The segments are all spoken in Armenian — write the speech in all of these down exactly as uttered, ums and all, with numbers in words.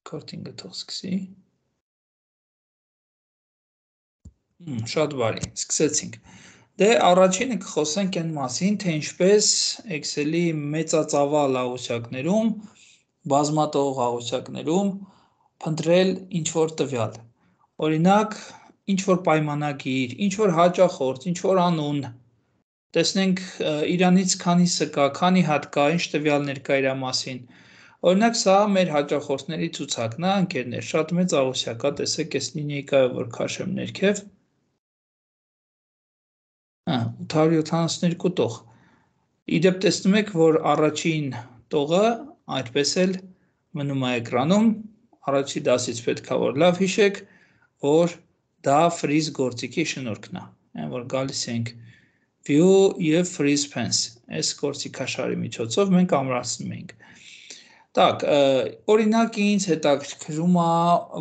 Recording-ը թող սկսի։ Շատ բարի, սկսեցինք։ Դե առաջինը կխոսենք այն մասին, թե ինչպես Excel-ի մեծածավալ աղյուսակներում, բազմատող աղյուսակներում փնտրել ինչ-որ տվյալ։ Օրինակ, ինչ-որ պայմանագիր, ինչ-որ հաճախորդ, ինչ-որ անուն, տեսնենք իրանից քանիսը կա, քանի հատ կա, ինչ տվյալներ կա իր մասին։ Օրինակ, սա մեր հաճախորդների ցուցակն է, ընկերներ, շատ մեծ աղյուսակ է, տեսեք, այս լինեյկայով որ քաշեմ ներքև, ութ հարյուր յոթանասունհինգ տող։ Իդեպ տեսնում եք, որ առաջին տողը այդպես էլ մնում է էկրանում, առաջի դասից պետք է որ լավ հիշեք, որ դա freeze գործիքի շնորհքն է, այն որ գալիս ենք view եւ freeze fence, այս գործիքաշարի միջոցով մենք ամրացնում ենք։ Так, օրինակ ինձ հետաքրքրում է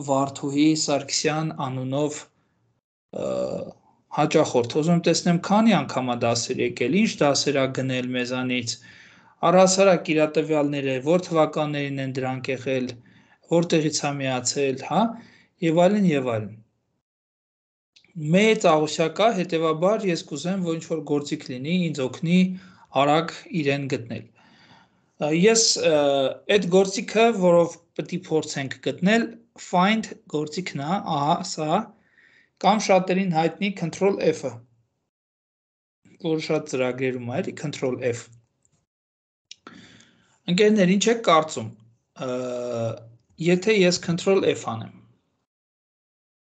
Վարդուհի Սարգսյան անունով հաճախորդ, ուզում տեսնեմ քանի անգամ է դասեր եկել, ինչ դասեր է գնել մեզանից, առհասարակ իր տվյալները, որ թվականներին են դրանք եղել, որտեղից է միացել, հա, եւ այլն եւ այլն։ Մեծ աղյուսակ է, հետեւաբար ես կուզեմ, որ ինչ-որ գործիք լինի, ինձ օգնի արագ իրեն գտնել։ Ես այդ գործիքը, որով պետք է փորձենք գտնել, find գործիքն է, ահա, սա, կամ շատերին հայտնի control F-ը, որ շատ ծրագրերում է, էլի control F։ Ընկերներ, ինչ եք կարծում, եթե ես control F անեմ,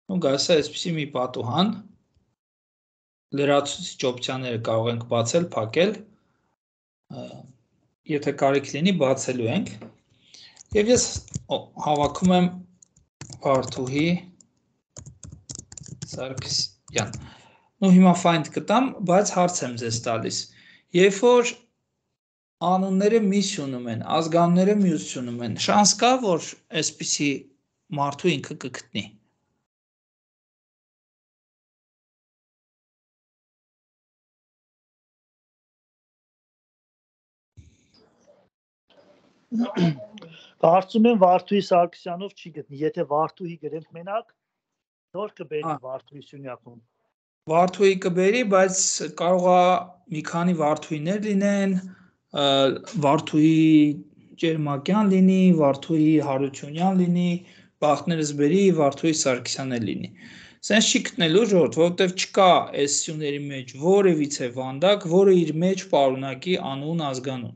ու գալիս է այսպիսի մի պատուհան, լրացուցիչ օպցիաները կարող ենք բացել, փակել, եթե կարիք լինի, բացելու ենք, և ես հավաքում եմ Վարդուհի Սարգսյան, ու հիմա find կտամ, բայց հարց եմ ձեզ տալիս, երբ որ անունները մի սյունում են, ազգանունները մյուս սյունում են, շանս կա, որ այսպիսի մարդու ինքը կգտնի։ Կարծում եմ Վարդուհի Սարգսյանով չի գտնի, եթե Վարդուհի գրենք մենակ, նոր կբերի Վարդուհի սյունյակում։ Վարդուհի կբերի, բայց կարող է մի քանի Վարդուհիներ լինեն, Վարդուհի Ճերմակյան լինի, Վարդուհի Հարությունյան լինի, բախտներս բերի, Վարդուհի Սարգսյան լինի։ Սենց չի գտնելու ժողովուրդ, որովհետև չկա այս սյուների մեջ որևիցե վանդակ, որը իր մեջ պարունակի անուն, ազգանուն։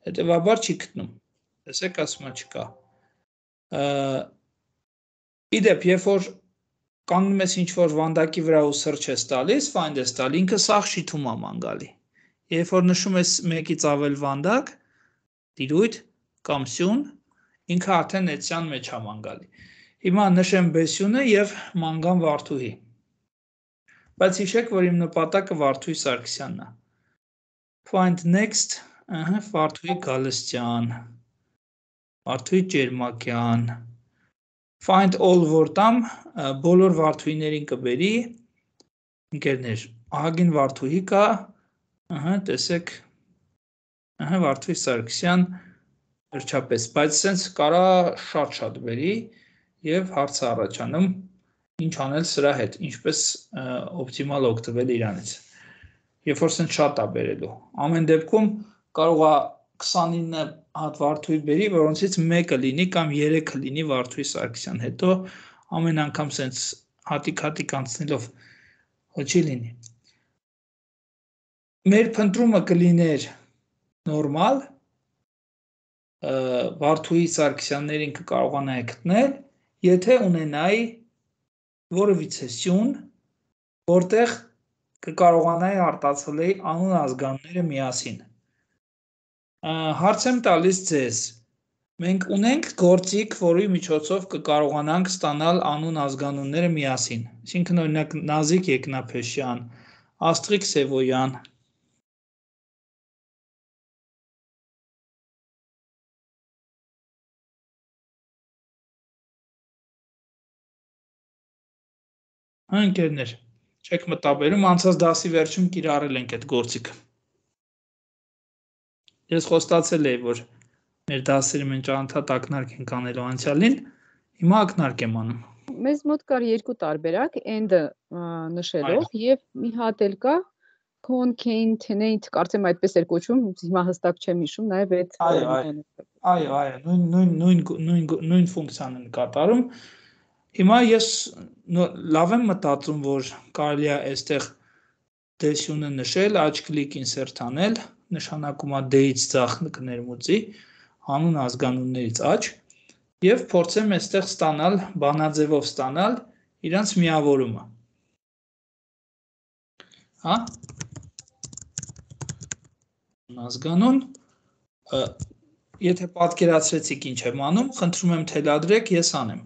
Հետևաբար չի գտնում, տեսեք, ասում է չկա։ Իդեպ, երբ որ կանգնում ես ինչ-որ վանդակի վրա ու search ես տալիս, find ես տալի, ինքը սաղ շիթում է ման գալի։ Երբ որ նշում ես մեկից ավել վանդակ, տիրույթ կամ սյուն, ինքը արդեն էցյան մեջ է ման գալի։ Հիմա նշեմ բեսյունը և մանգամ Վարդուհի։ Բայց հիշեք, որ իմ նպատակը Վարդուհի Սարգսյանն է։ Find next, Վարդուհի Գալստյան, Վարդուհի Ճերմակյան, find all որ տամ, բոլոր Վարդուհիներին կբերի, ընկերներ, ահագին Վարդուհի կա, տեսեք, Վարդուհի Սարգսյան, վերջապես, բայց սենց կարա շատ-շատ բերի և հարցը առաջանում, ինչ անել սրա հետ, ինչպես օպտիմալ օգտվել իրանից, երբ որ սենց շատ է բերելու, ամեն դեպքում կարող է քսանինը հատ Վարդուհի բերի, որոնցից մեկը լինի կամ երեքը լինի Վարդուհի Սարգսյան, հետո ամեն անգամ սենց հատիկ-հատիկ անցնելով չի լինի։ Մեր փնտրումը կլիներ նորմալ, Վարդուհի Սարգսյաններին կկարողանայի գտնել, եթե ունենայի որևիցե սյուն, որտեղ կկարողանայի արտացոլեի անուն ազգանունները միասին։ Հարց եմ տալիս ձեզ, մենք ունենք գործիք, որի միջոցով կկարողանանք ստանալ անուն ազգանունները միասին, այսինքն օրինակ Նազիկ Եկնափեշյան, Աստղիկ Սևոյան, ընկերներ, չեք մտաբերում, անցած դասի վերջում կիրառել ենք այդ գործիքը։ Ես խոստացել էի, որ մեր դասերը մենք անընդհատ ակնարկ ենք անելու անցյալին, հիմա ակնարկ եմ անում։ Մեզ մոտ կար երկու տարբերակ, end-ը նշելով եւ մի հատ էլ կա concatenate, կարծեմ այդպես էր կոչվում, հիմա հստակ չեմ հիշում, նաեւ այդ Այո, այո, այո, նույն նույն նույն նույն նույն ֆունկցիան են կատարում։ Հիմա ես լավ եմ մտածում, որ կարելի է այստեղ դեսյունը նշել, աջ կլիկ insert անել, նշանակում է d-ից ձախ կներմուծի, հանուն ազգանուններից աջ, եւ փորձեմ այստեղ ստանալ, բանաձևով ստանալ իրանց միավորումը։ Հա? Ազգանուն, եթե պատկերացրեցիք ինչ եմ անում, խնդրում եմ թելադրեք, ես անեմ։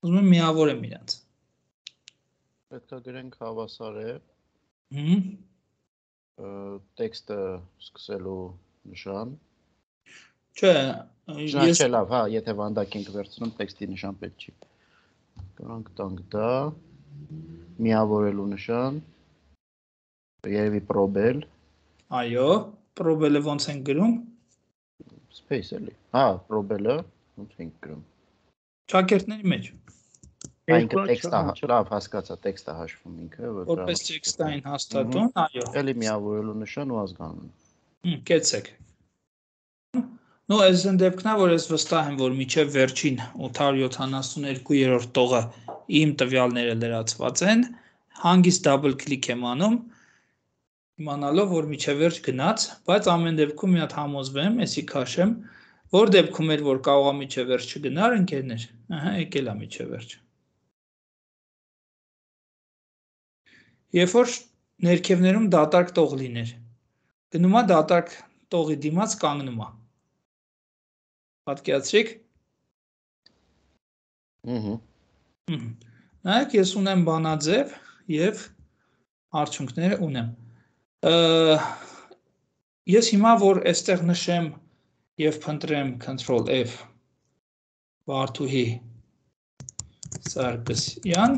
Ուզում եմ միավորեմ իրանց։ Պետք է գրենք հավասար է։ Հմ։ Տեքստը սկսելու նշան։ Չէ, ես լավ, հա, եթե վանդակ ենք վերցնում, տեքստի նշան պետք չի։ Գրանք տանք դա, միավորելու նշան, երևի probel։ Այո, probel-ը ոնց ենք գրում։ Space էլի։ Հա, probel-ը ոնց ենք գրում։ Ճակերտների մեջ։ Այնքը տեքստը, լավ, հասկացա, տեքստը հաշվում ինքը, որպես տեքստային հաստատուն, այո։ Էլի միավորելու նշան ու ազգանուն։ Հմ, կեցեք։ Ну, այս են դեպքն է, որ ես վստահ եմ, որ միջև վերջին ութ հարյուր յոթանասունյոթ տողը իմ տվյալները լրացված են, հանգիստ double click եմ անում, իմանալով, որ միջև վերջ գնաց, բայց ամեն դեպքում մի հատ համոզվեմ, էսի քաշեմ, որ դեպքում էր, որ կարող է միջև վերջ չգնար, ընկերներ, ահա, եկել է միջև վերջ։ Երբ որ ներքևներում դատարկ տող լիներ, գնում է դատարկ տողի դիմաց կանգնում է։ Պատկերացրիք։ Ահա։ Նայեք, ես ունեմ բանաձև եւ արդյունքները ունեմ։ Ես հիմա որ այստեղ նշեմ եւ փնտրեմ control F Վարդուհի Սարգսյան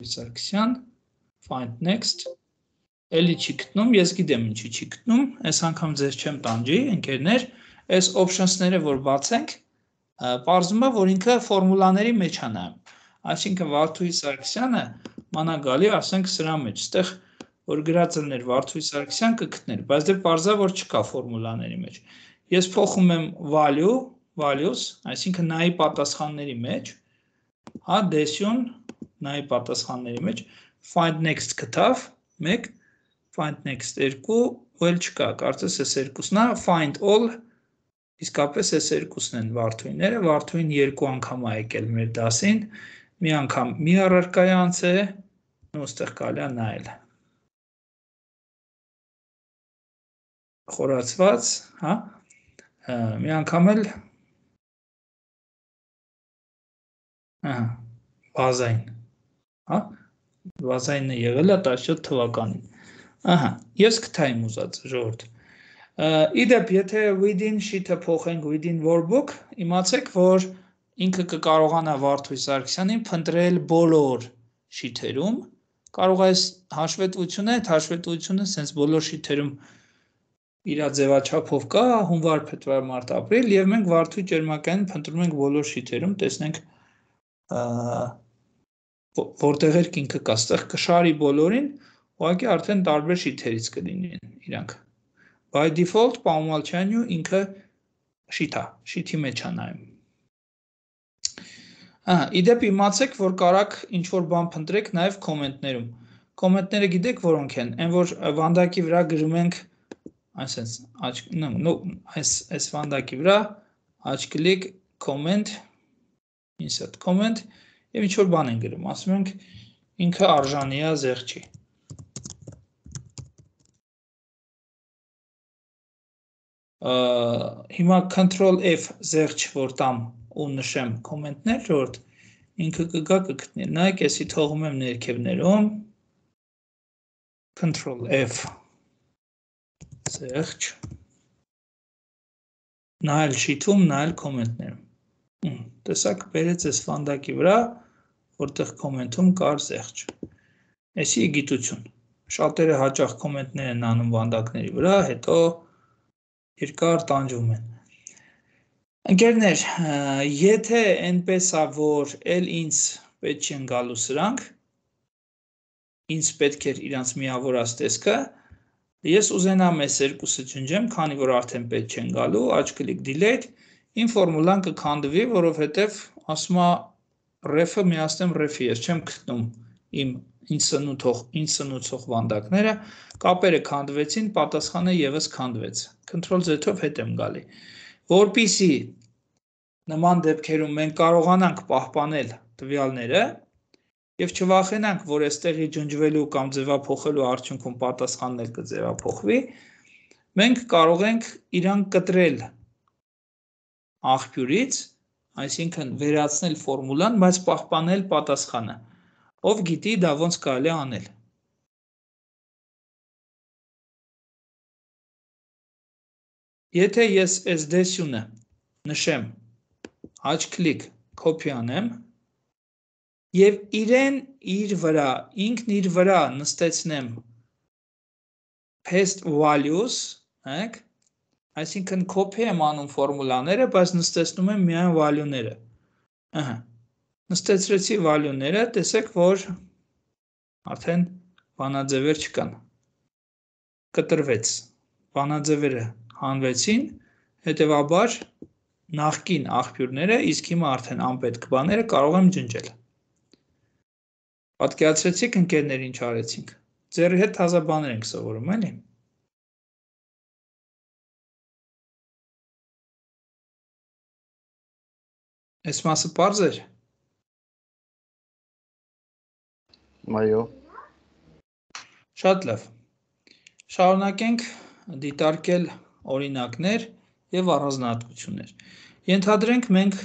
Սարգսյան find next էլի չի գտնում, ես գիտեմ ինչի չի գտնում, այս անգամ ձեզ չեմ տանջի, ընկերներ, այս options-ները որ բացենք, պարզվում է, որ ինքը ֆորմուլաների մեջ է նայում։ Այսինքն Վարդուհի Սարգսյանը մանա գալի, ասենք սրա մեջ, այդտեղ որ գրած լիներ Վարդուհի Սարգսյան կգտներ, բայց դե պարզա որ չկա ֆորմուլաների մեջ։ Ես փոխում եմ value, values, այսինքն նայի պատասխանների մեջ, հա, դեսյուն նայի պատասխանների մեջ, find next գտավ, մեկ, find next երկու, ու էլ չկա, կարծես այս երկուսն է, find all, իսկապես այս երկուսն են Վարդուհիները, Վարդուհին երկու անգամ է եկել մեր դասին, մի անգամ մի առարկայի անց է, ու ստեղ կարելի է նայել։ Խորացված, հա, մի անգամ էլ, ահա, բազային, հա, բազայինը եղել է տասնյոթ թվականին, ահա, ես կթա իմ ուզած ժողովուրդ, իդեպ, եթե within sheet-ը փոխենք within workbook, իմացեք, որ ինքը կկարողանա Վարդուհի Սարգսյանին փնտրել բոլոր շիթերում, կարող է այս հաշվետվությունը, այդ հաշվետվությունը սենց բոլոր շիթերում իր ձևաչափով կա, հունվար, փետրվար, մարտ, ապրիլ, եւ մենք Վարդուհի Ճերմակյանին փնտրում ենք բոլոր շիթերում, տեսնենք որտեղ էր ինքը կա, ստեղ կշարի բոլորին, ուղղակի արդեն տարբեր շիթերից կլինեն իրանք։ By default, Պաումալչյանյու ինքը շիթ է, շիթի մեջ է նայում։ Ահա, իդեպ իմացեք, որ կարաք ինչ-որ բան փնտրեք նաև կոմենտներում։ Կոմենտները գիտեք որոնք են, այն որ վանդակի վրա գրում ենք, այսպես, այս այս վանդակի վրա, աջ կլիկ, comment, insert comment, եւ ինչ-որ բան են գրում, ասում ենք ինքը արժանի է զեղչի։ Հիմա control F զեղչ որ տամ ու նշեմ կոմենտներ, ժողովուրդ, ինքը կգա կգտնի։ Նայեք, եսի թողում եմ ներքևներում, control F զեղչ, նայել շիթում, նայել կոմենտներում։ Տեսակ բերեց այս վանդակի վրա, որտեղ կոմենտում կար զեղչ։ Էսի գիտություն։ Շատերը հաճախ կոմենտներ են անում վանդակների վրա, հետո երկար տանջում են։ Ընկերներ, եթե այնպես է, որ էլ ինձ պետք չեն գալու սրանք, ինձ պետք էր իրանց միավորած տեսքը, ես ուզենամ այս երկուսը ջնջեմ, քանի որ արդեն պետք չեն գալու, աջ կլիկ delete, իմ ֆորմուլան կքանդվի, որովհետև ասում է ref-ը միացնեմ ref-ի, ես չեմ գտնում իմ ինձ սնուցող վանդակները, կապերը քանդվեցին, պատասխանը եւս քանդվեց։ Control Z-ով հետ եմ գալի։ Որպեսզի նման դեպքերում մենք կարողանանք պահպանել տվյալները եւ չվախենանք, որ այստեղի ջնջվելու կամ ձևափոխելու արդյունքում պատասխանն էլ կձևափոխվի, մենք կարող ենք իրան կտրել աղբյուրից, այսինքն վերացնել ֆորմուլան, բայց պահպանել պատասխանը։ Ով գիտի դա ոնց կարելի է անել։ Եթե ես այս դեսյունը նշեմ, աջ կլիկ copy անեմ եւ իրեն իր վրա, ինքն իր վրա նստեցնեմ paste values, հեք, այսինքն copy եմ անում ֆորմուլաները, բայց նստեցնում եմ միայն value-ները։ Ահա։ Նստեցրեցի value-ները, տեսեք, որ արդեն բանաձևեր չկան։ Կտրվեց։ Բանաձևերը հանվեցին, հետևաբար նախկին աղբյուրները, իսկ հիմա արդեն անպետք բաները կարող եմ ջնջել։ Պատկերացրեցիք ընկերներ ինչ արեցինք։ Ձեռի հետ թազա բաներ ենք սովորում, էլի։ Այս մասը պարզ էր։ Այո։ Շատ լավ։ Շարունակենք դիտարկել օրինակներ եւ առանձնահատկություններ։ Ենթադրենք մենք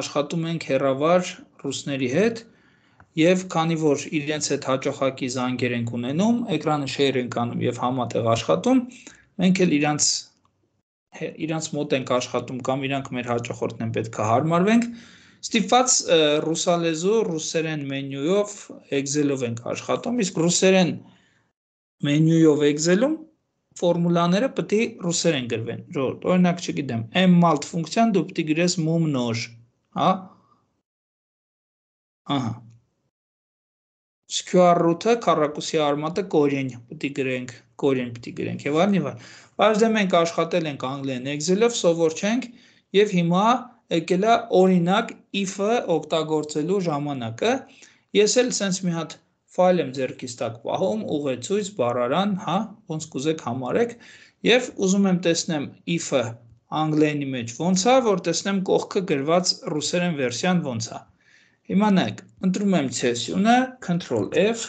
աշխատում ենք հեռավար ռուսների հետ եւ քանի որ իրենց հետ հաճախակի զանգեր ենք ունենում, էկրանը share ենք անում եւ համատեղ աշխատում, մենք էլ իրանց իրանց մոտ ենք աշխատում կամ իրանք մեր հաճախորդն են, պետք է հարմարվենք, ստիպված ռուսալեզու ռուսերեն մենյուով Excel-ով ենք աշխատում, իսկ ռուսերեն մենյուով Excel-ում ֆորմուլաները պետք է ռուսերեն գրվեն։ Օրինակ, չգիտեմ, mmalt ֆունկցիան դու պետք է գրես մումնոժ, հա։ Ահա։ Square root-ը քառակուսի արմատը կորյուն պետք է գրենք, կորյուն պետք է գրենք եւ այլն եւ այլն։ Բայց դե մենք աշխատել ենք անգլերեն Excel-ով, սովոր չենք եւ հիմա եկել է օրինակ if-ը օգտագործելու ժամանակը։ Ես էլ sense մի հատ ֆայլ եմ ձեռքից տակ պահում, ուղեցույց, բառարան, հա, ոնց կուզեք համարեք եւ ուզում եմ տեսնեմ if-ը անգլերենի մեջ ոնց է, որ տեսնեմ կողքը գրված ռուսերեն վերսիան ոնց է։ Հիմա նայեք, ընտրում եմ session-ը, control F,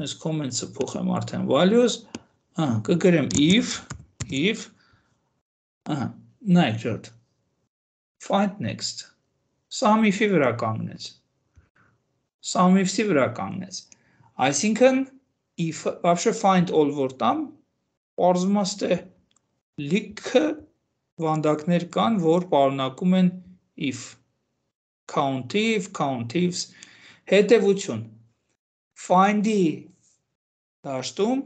այս comments-ը փոխեմ արդեն values, ահա, կգրեմ if, if, ահա, նայեք ջոտ, find next, sum if-ի վրա կանգնեց, sum if-ի վրա կանգնեց, այսինքն, if, вообще find all որ տամ, պարզում է լիքը վանդակներ կան, որ պարունակում են if, countif, countifs, հետևություն, find-ի դաշտում,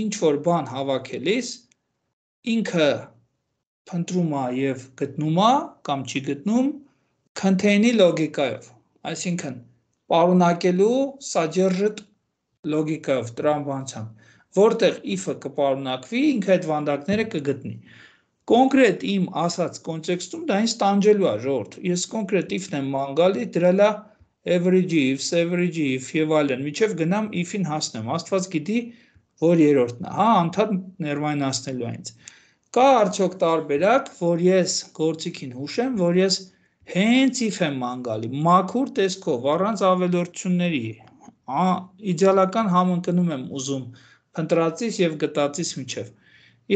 ինչ որ բան հավաքելիս, ինքը փնտրում է եւ գտնում է կամ չի գտնում contain-ի լոգիկայով, այսինքն պարունակելու սաջերժտ լոգիկայով, տրամաբանությամբ, որտեղ if-ը կպարունակվի, ինքը այդ վանդակները կգտնի։ Կոնկրետ իմ ասած կոնտեքստում դա ինձ տանջելու է, ժողովուրդ։ Ես կոնկրետ if-ն եմ ման գալի, դրել է average if, average if եւ այլն, միջև գնամ if-ին հասնեմ։ Աստված գիտի, որ երրորդն է, հա, անդադ ներվայնացնելու է ինձ։ Կա արդյոք տարբերակ, որ ես գործիքին հուշեմ, որ ես հենց if եմ ման գալի, մաքուր տեսքով, առանց ավելորդությունների, իդեալական համընկնում եմ ուզում փնտրածից եւ գտածից միջև։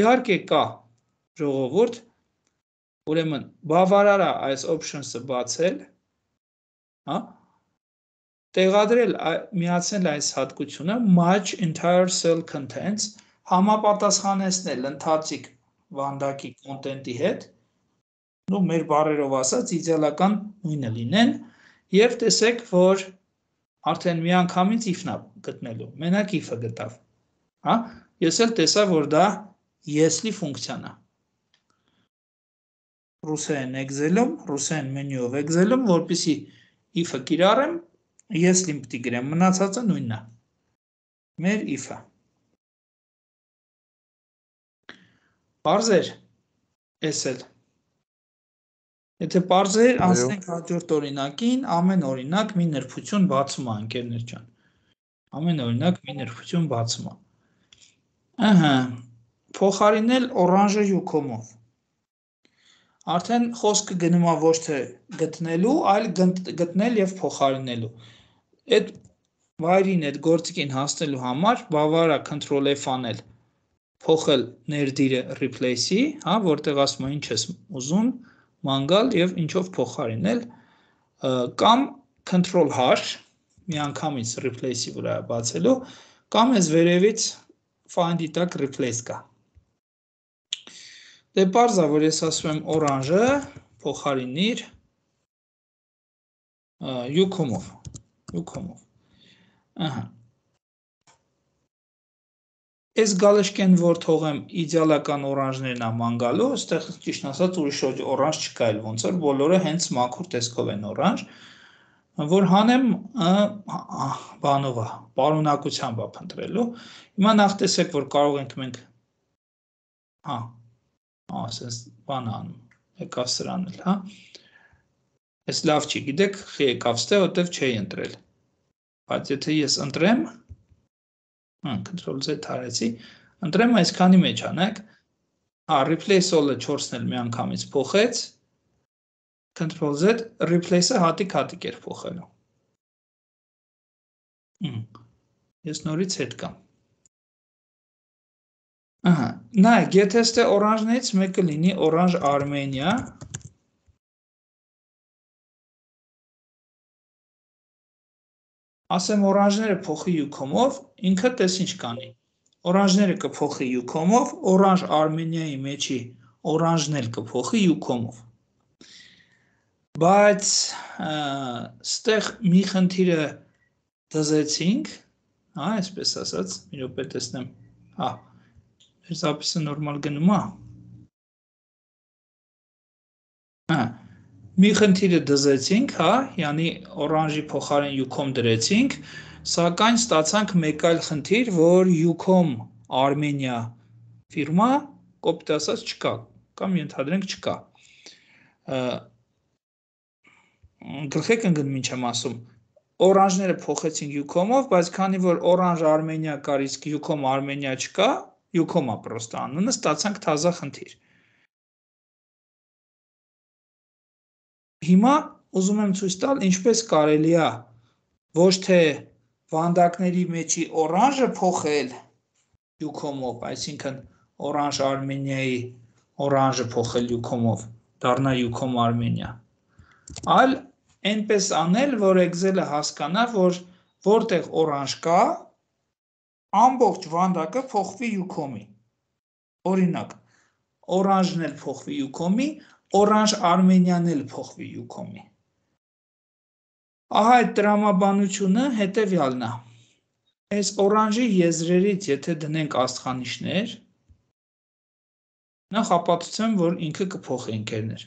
Իհարկե կա ժողովուրդ, ուրեմն բավարար է այս options-ը բացել, հա, տեղադրել, միացնել այս հատկությունը match entire cell contents, համապատասխանեցնել ընթացիկ վանդակի կոնտենտի հետ, ու մեր բառերով ասած իդեալական նույնը լինեն եւ տեսեք, որ արդեն միանգամից if-ն է գտնելու։ Մենակ if-ը գտավ։ Հա, ես էլ տեսա, որ դա если ֆունկցիան է։ Ռուսերեն Excel-ում, ռուսերեն մենյուով Excel-ում, որպեսզի if-ը կիրառեմ, если-ին պետք է գրեմ, մնացածը նույնն է։ Մեր if-ը։ Պարզ էր, էս էլ։ Եթե պարզ էր, անցնենք հաջորդ օրինակին, ամեն օրինակ մի նրբություն բացում է, ընկերներ ջան։ Ամեն օրինակ մի նրբություն բացում է։ Ահա, փոխարինել օրանժը յուքոմով։ Արդեն խոսքը գնում է ոչ թե գտնելու, այլ գտնել եւ փոխարինելու։ Այդ վայրին, այդ գործիքին հասնելու համար բավարար է control F անել, փոխել ներդիրը replace-ի, հա, որտեղ ասում է ինչ ես ուզում, ման գալ եւ ինչով փոխարինել, կամ control H, միանգամից replace-ի վրա բացելու, կամ այս վերևից find-ի տակ replace կա։ Դե պարզ է, որ ես ասում եմ օրանժը փոխարինիր յուքոմով, յուքոմով։ Ահա։ Այս գալշկեն, որ թողեմ իդեալական օրանժներն աման գալու, այստեղ ճիշտ ասած ուրիշ օրանժ չկա էլ, ոնց որ բոլորը հենց մաքուր տեսքով են օրանժ, որ հանեմ բանով է, պարունակությամբ է փնտրելու։ Հիմա նախ տեսեք, որ կարող ենք մենք հա, ասես բան անում, եկավ սրան էլ, հա։ Այս լավ չի, գիտեք, խի եկավ ստե, որտև չէի ընտրել։ Բայց եթե ես ընտրեմ, control Z թարեցի, ընտրեմ այսքանի մեջ անեք, հա, replace all-ը չորսն էլ մի անգամից փոխեց, control Z, replace-ը հատիկ-հատիկ էր փոխելու։ Ես նորից հետ կամ։ Ահա, նայեք, եթե ստե օրանժներից մեկը լինի օրանժ Արմենիա, ասեմ օրանժները փոխի յուքոմով, ինքը տես ինչ կանի։ Օրանժները կփոխի յուքոմով, օրանժ Արմենիայի մեջի օրանժն էլ կփոխի յուքոմով։ Բայց ստեղ մի խնդիրը դզեցինք, հա, այսպես ասած, մի րոպե տեսնեմ, հա, մեր զապիսը նորմալ գնում է։ Հա, մի խնդիրը դզեցինք, հա, յանի օրանժի փոխարեն յուքոմ դրեցինք, սակայն ստացանք մեկ այլ խնդիր, որ յուքոմ Արմենիա ֆիրմա կոպիտ ասած չկա, կամ ենթադրենք չկա։ Գլխեք ընկնում ինչ եմ ասում, օրանժները փոխեցինք յուքոմով, բայց քանի որ օրանժ Արմենիա կար, իսկ յուքոմ Արմենիա չկա, յուքոմա պրոստը անունը, ստացանք թազա խնդիր։ Հիմա ուզում եմ ցույց տալ, ինչպես կարելի է ոչ թե վանդակների մեջի օրանժը փոխել յուքոմով, այսինքն օրանժ Արմենիայի օրանժը փոխել յուքոմով, դառնա յուքոմ Արմենիա, այլ այնպես անել, որ Excel-ը հասկանա, որ որտեղ օրանժ կա, ամբողջ վանդակը փոխվի յուքոմի։ Օրինակ, օրանժն էլ փոխվի յուքոմի, օրանժ Արմենիան էլ փոխվի յուքոմի։ Ահա այդ տրամաբանությունը հետևյալն է։ Այս օրանժի եզրերից եթե դնենք աստղանիշներ, նախ ապացուցեմ, որ ինքը կփոխի ընկերներ։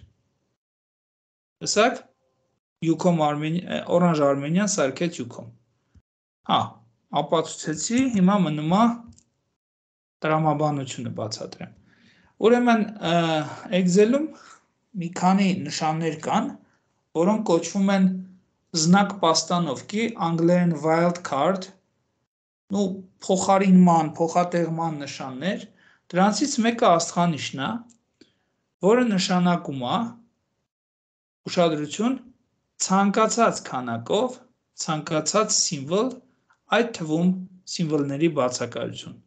Տեսակ, յուքոմ Արմենիա, օրանժ Արմենիան սարքեց յուքոմ։ Հա, ապացուցեցի, հիմա մնում է տրամաբանությունը բացատրեմ։ Ուրեմն Excel-ում մի քանի նշաններ կան, որոնք կոչվում են զնակ պաստանովկի, անգլերեն wild card, ու փոխարինման, փոխատեղման նշաններ, դրանցից մեկը աստղանիշն է, որը նշանակում է ուշադրություն ցանկացած քանակով, ցանկացած սիմվոլ, այդ թվում սիմվոլների բացակայություն։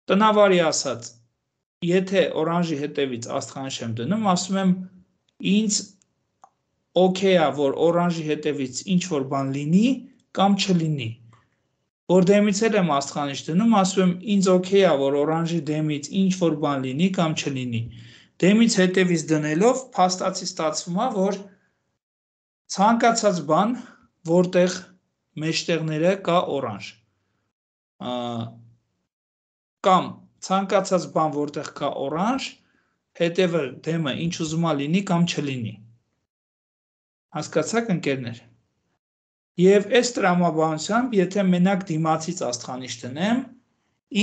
Տնավարի ասած, եթե օրանժի հետևից աստղանիշ եմ դնում, ասում եմ ինձ օքեյ է, որ օրանժի հետևից ինչ որ բան լինի կամ չլինի։ Որ դեմից էլ եմ աստղանիշ դնում, ասում եմ ինձ օքեյ է, որ օրանժի դեմից ինչ որ բան լինի կամ չլինի։ դեմից հետևից դնելով փաստացի ստացվում է, որ ցանկացած բան, որտեղ մեջտեղները կա օրանժ։ Կամ ցանկացած բան, որտեղ կա օրանժ, հետևը դեմը ինչ ուզում է լինի կամ չլինի։ Հասկացաք ընկերներ։ Եվ այս տրամաբանությամբ, եթե մենակ դիմացից աստղանիշ դնեմ,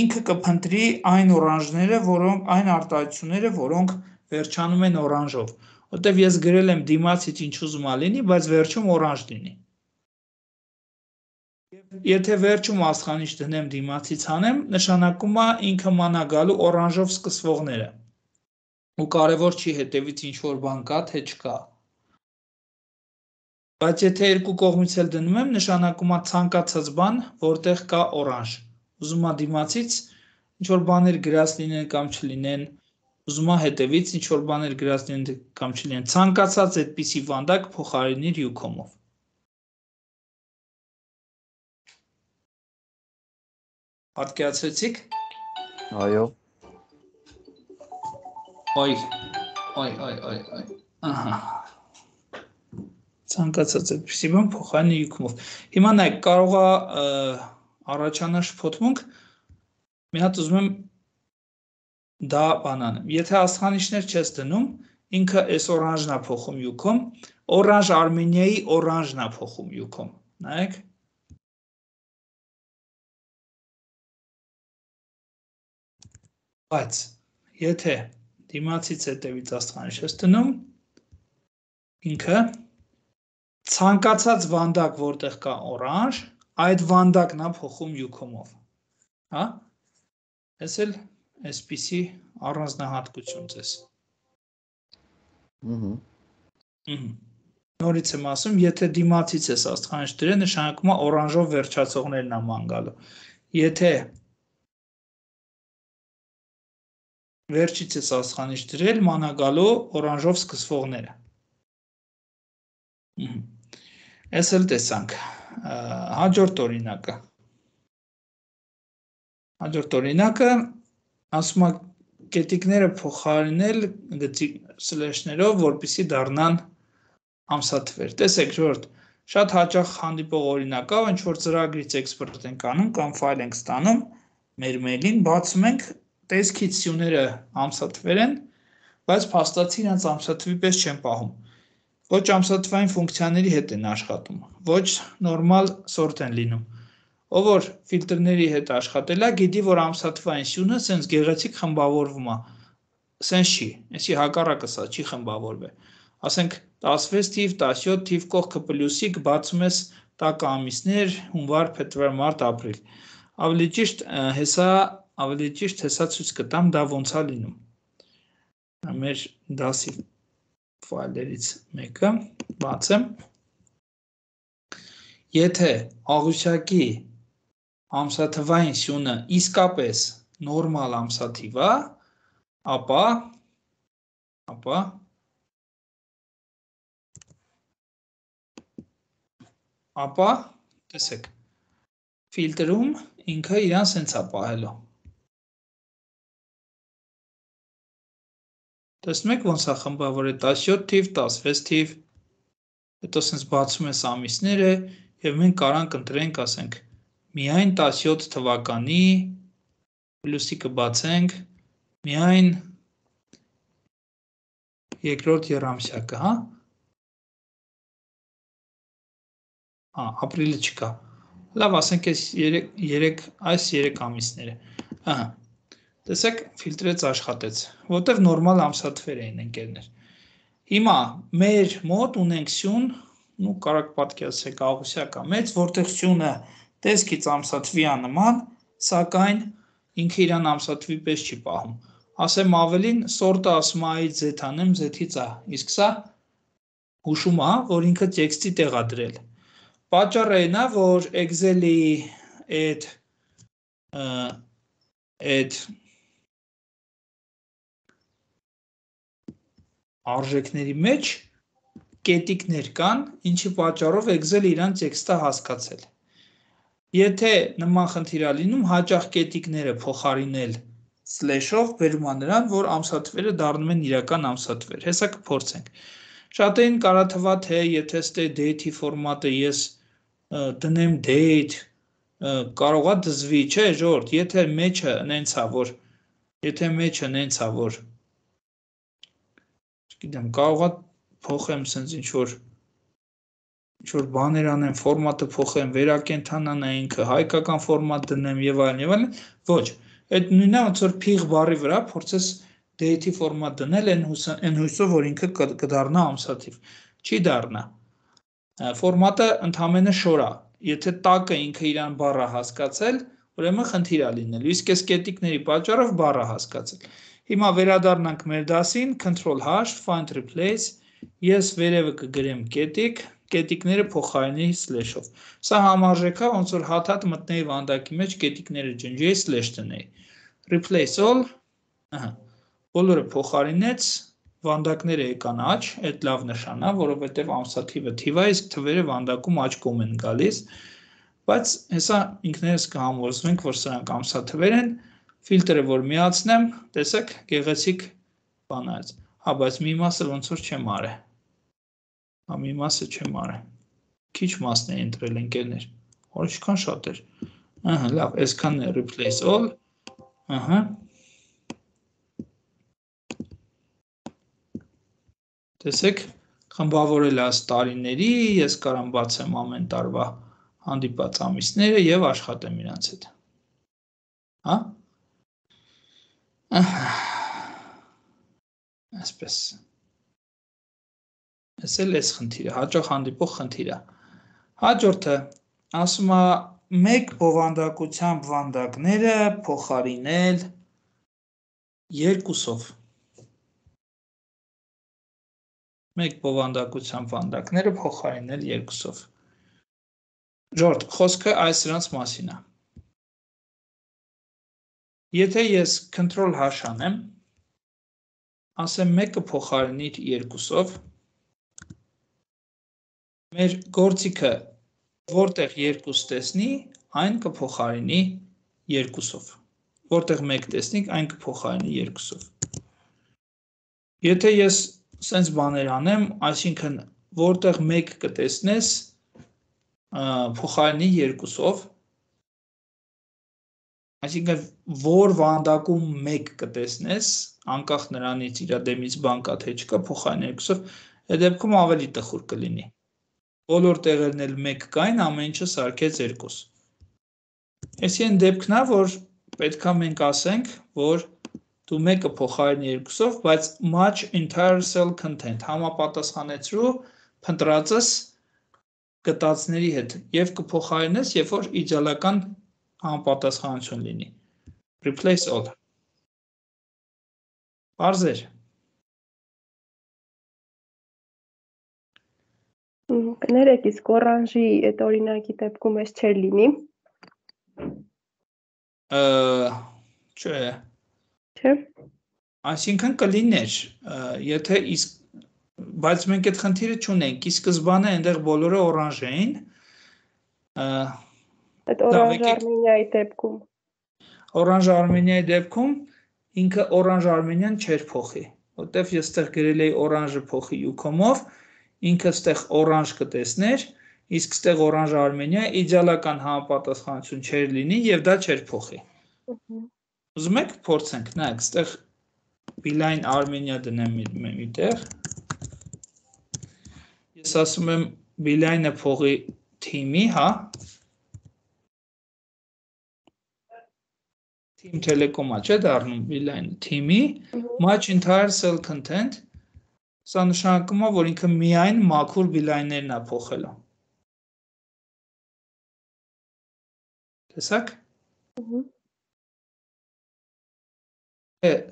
ինքը կփնտրի այն օրանժները, որոնք այն արտահայտությունները, որոնք վերջանում են օրանժով, որտեղ ես գրել եմ դիմացից ինչ ուզում է լինի, բայց վերջում օրանժ լինի։ Եթե վերջում աստղանիշ դնեմ դիմացից հանեմ, նշանակում է ինքը մանա գալու օրանժով սկսվողները։ Ու կարևոր չի հետևից ինչ որ բան կա, թե չկա։ Բայց եթե երկու կողմից էլ դնում եմ, նշանակում է ցանկացած բան, որտեղ կա օրանժ։ Ուզում է դիմացից ինչ որ բաներ գրած լինեն կամ չլինեն, ուզում է հետևից ինչ որ բաներ գրած լինեն կամ չլինեն, ցանկացած այդպիսի վանդակ փոխարինիր յուքոմով։ Պատկերացրեցիք։ Այո։ Ոյ, ոյ, ոյ, ոյ, ոյ։ Ահա։ Ցանկացած այդպիսի բան փոխարինի յուքոմով։ Հիմա նայեք, կարող է առաջանալ շփոթմունք։ Մի հատ ուզում եմ դա բան անեմ։ Եթե աստղանիշներ չես դնում, ինքը այս օրանժն է փոխում յուքոմ, օրանժ Արմենիայի օրանժն է փոխում յուքոմ։ Նայեք։ Բայց եթե դիմացից հետևից աստղանիշ ես դնում, ինքը ցանկացած վանդակ, որտեղ կա օրանժ, այդ վանդակն է փոխում յուքոմով։ Հա? Այս էլ այսպիսի առանձնահատկություն ձեզ։ Նորից եմ ասում, եթե դիմացից ես աստղանիշ դրել, նշանակում է օրանժով վերջացողներն է ման գալու։ Եթե վերջից ես աստղանիշ դրել, մանա գալու օրանժով սկսվողները։ Այս էլ տեսանք։ Հաջորդ օրինակը։ Հաջորդ օրինակը ասում է կետիկները փոխարինել գծի սլեշներով, որպեսզի դառնան ամսաթվեր։ Տեսեք, ժողովուրդ, շատ հաճախ հանդիպող օրինակ է, ինչ որ ծրագրից էքսպորտ ենք անում կամ ֆայլ ենք ստանում, մեր մեյլին բացում ենք, տեսքից սյուները ամսաթվեր են, բայց փաստացի իրենց ամսաթվի պես չեն պահում։ Ոչ ամսաթվային ֆունկցիաների հետ են աշխատում, ոչ նորմալ սորտ են լինում։ Ով որ ֆիլտրների հետ աշխատել է, գիտի, որ ամսաթվային սյունը սենց գեղեցիկ խմբավորվում է։ Սենց չի, այսի հակառակը սա չի խմբավորվել։ Ասենք տասնվեց թիվ, տասնյոթ թիվ կողքը պլյուսիկ բացում ես տակ ամիսներ, հունվար, փետրվար, մարտ, ապրիլ։ Ավելի ճիշտ հեսա, ավելի ճիշտ հեսա ցույց կտամ դա ոնց է լինում։ Մեր դասի ֆայլերից մեկը բացեմ։ Եթե աղյուսակի ամսաթվային սյունը իսկապես նորմալ ամսաթիվ է, ապա ապա ապա տեսեք ֆիլտրում ինքը իրան սենց է պահելու։ Տեսնում եք ոնց է խմբավորել տասնյոթ թիվ, տասնվեց թիվ, հետո սենց բացում ես ամիսները և մենք կարանք ընտրենք, ասենք, միայն տասնյոթ թվականի, պլյուսիկը բացենք, միայն երկրորդ եռամսյակը, հա? Հա, ապրիլը չկա։ Լավ, ասենք այս երեք, այս երեք ամիսները։ Ահա, տեսեք, ֆիլտրեց աշխատեց, որտև նորմալ ամսաթվեր էին ընկերներ։ Հիմա մեր մոտ ունենք սյուն, ու կարաք պատկերացրեք աղյուսակա մեծ, որտեղ սյունը տեսքից ամսաթվի է նման, սակայն ինքը իրան ամսաթվի պես չի պահում։ Ասեմ ավելին, սորտը ասում է այ Z անեմ, Z-ից է, իսկ սա հուշում է, որ ինքը տեքստի տեղ է դրել։ Պատճառը այն է, որ Excel-ի այդ այդ արժեքների մեջ կետիկներ կան, ինչի պատճառով Excel-ը իրան տեքստը հասկացել։ Եթե նման խնդիր է լինում, հաճախ կետիկները փոխարինել slash-ով բերում է նրան, որ ամսաթվերը դառնում են իրական ամսաթվեր։ Հեսա կփորձենք։ Շատերին կարա թվա, թե եթե ստե date-ի ֆորմատը ես դնեմ date, կարողա դզվի, չէ, ժողովուրդ, եթե մեջը նենց է, որ եթե մեջը նենց է, որ չգիտեմ, կարողա փոխեմ սենց ինչ որ ինչ որ բաներ անեմ, ֆորմատը փոխեմ, վերակենդանանա ինքը, հայկական ֆորմատ դնեմ եւ այլն եւ այլն, ոչ, այդ նույնն է, ոնց որ փիղ բառի վրա փորձես date-ի ֆորմատ դնել, այն հույսով, որ ինքը կդառնա ամսաթիվ։ Չի դառնա։ Ֆորմատը ընդհանրապես շոր է։ Եթե տակը ինքը իրան բառը հասկացել, ուրեմն խնդիր է լինելու։ Իսկ այս կետիկների պատճառով բառը հասկացել։ Հիմա վերադառնանք մեր դասին, control H, find replace, ես վերևը կգրեմ կետիկ, կետիկները փոխարինի slash-ով։ Սա համարժեք է, ոնց որ հատ-հատ մտնեի վանդակի մեջ կետիկները ջնջեի slash դնեի։ Replace all, ահա, բոլորը փոխարինեց, վանդակները եկան աճ, այդ լավ նշան է, որովհետև ամսաթիվը թիվ է, իսկ թվերը վանդակում աճկում են գալիս, բայց հեսա ինքներս կհամոզվենք, որ սրանք ամսաթվեր են, ֆիլտրը որ միացնեմ, տեսեք, գեղեցիկ բան է, հա, բայց մի մասը ոնց որ չեմ արել, հա, մի մասը չեմ արել, քիչ մասն է ընտրել ընկերներ, որ ինչքան շատ էր, ահա, լավ, այսքան է replace all, ահա, տեսեք, խմբավորել է տարիների, ես կարամ բացեմ ամեն տարվա հանդիպած ամիսները և աշխատեմ իրանց հետ։ Հա? Այսպես։ Ես էլ ես խնդիրը, հաճախ հանդիպող խնդիրը։ Հաջորդը, ասում է մեկ բովանդակությամբ վանդակները փոխարինել երկուսով։ Մեկ բովանդակությամբ վանդակները փոխարինել երկուսով։ Ժորդ, խոսքը այս սրանց մասին է։ Եթե ես control H անեմ, ասեմ մեկը փոխարինիր երկուսով, մեր գործիքը որտեղ երկուս տեսնի, այն կփոխարինի երկուսով։ Որտեղ մեկ տեսնի, այն կփոխարինի երկուսով։ Եթե ես սենց բաներ անեմ, այսինքն որտեղ մեկ կտեսնես, փոխարինի երկուսով, այսինքն որ վանդակում մեկ կտեսնես, անկախ նրանից իր դեմից բան կա թե չկա, փոխարինի երկուսով, այդ դեպքում ավելի տխուր կլինի։ Բոլոր տեղերն էլ մեկ կային, ամեն ինչը սարքեց երկուս։ Այսի այն դեպքն է, որ պետքա մենք ասենք, որ դու մեկը փոխարինի երկուսով, բայց match entire cell content համապատասխանեցրու փնտրածս գտածների հետ եւ կփոխարինես, երբ որ իդեալական համապատասխանություն լինի։ Replace all։ Բարձր։ Կներեք, իսկ օրանժի այդ օրինակի դեպքում էս չէր լինի։ Չէ։ Չէ։ Այսինքն կլիներ, եթե իսկ բայց մենք այդ խնդիրը չունենք, ի սկզբանե այնտեղ բոլորը օրանժ էին։ Այդ օրանժ Արմենիայի դեպքում։ Օրանժ Արմենիայի դեպքում ինքը օրանժ Արմենիան չէր փոխի, որտեվ ես այդտեղ գրել էի օրանժը փոխի Ucom-ով, ինքը այդտեղ օրանժ կտեսներ, իսկ այդտեղ օրանժ Արմենիա իդեալական համապատասխանություն չէր լինի եւ դա չէր փոխի։ Ուզում եք փորձենք, նայեք, այդտեղ Beeline Armenia դնեմ միտեղ։ Ես ասում եմ Beeline-ը փողի թիմի, հա։ Team Telecom-ա չէ դառնում Beeline թիմի, match entire cell content, սա նշանակում է, որ ինքը միայն մաքուր Beeline-ներն է փոխելու։ Տեսակ։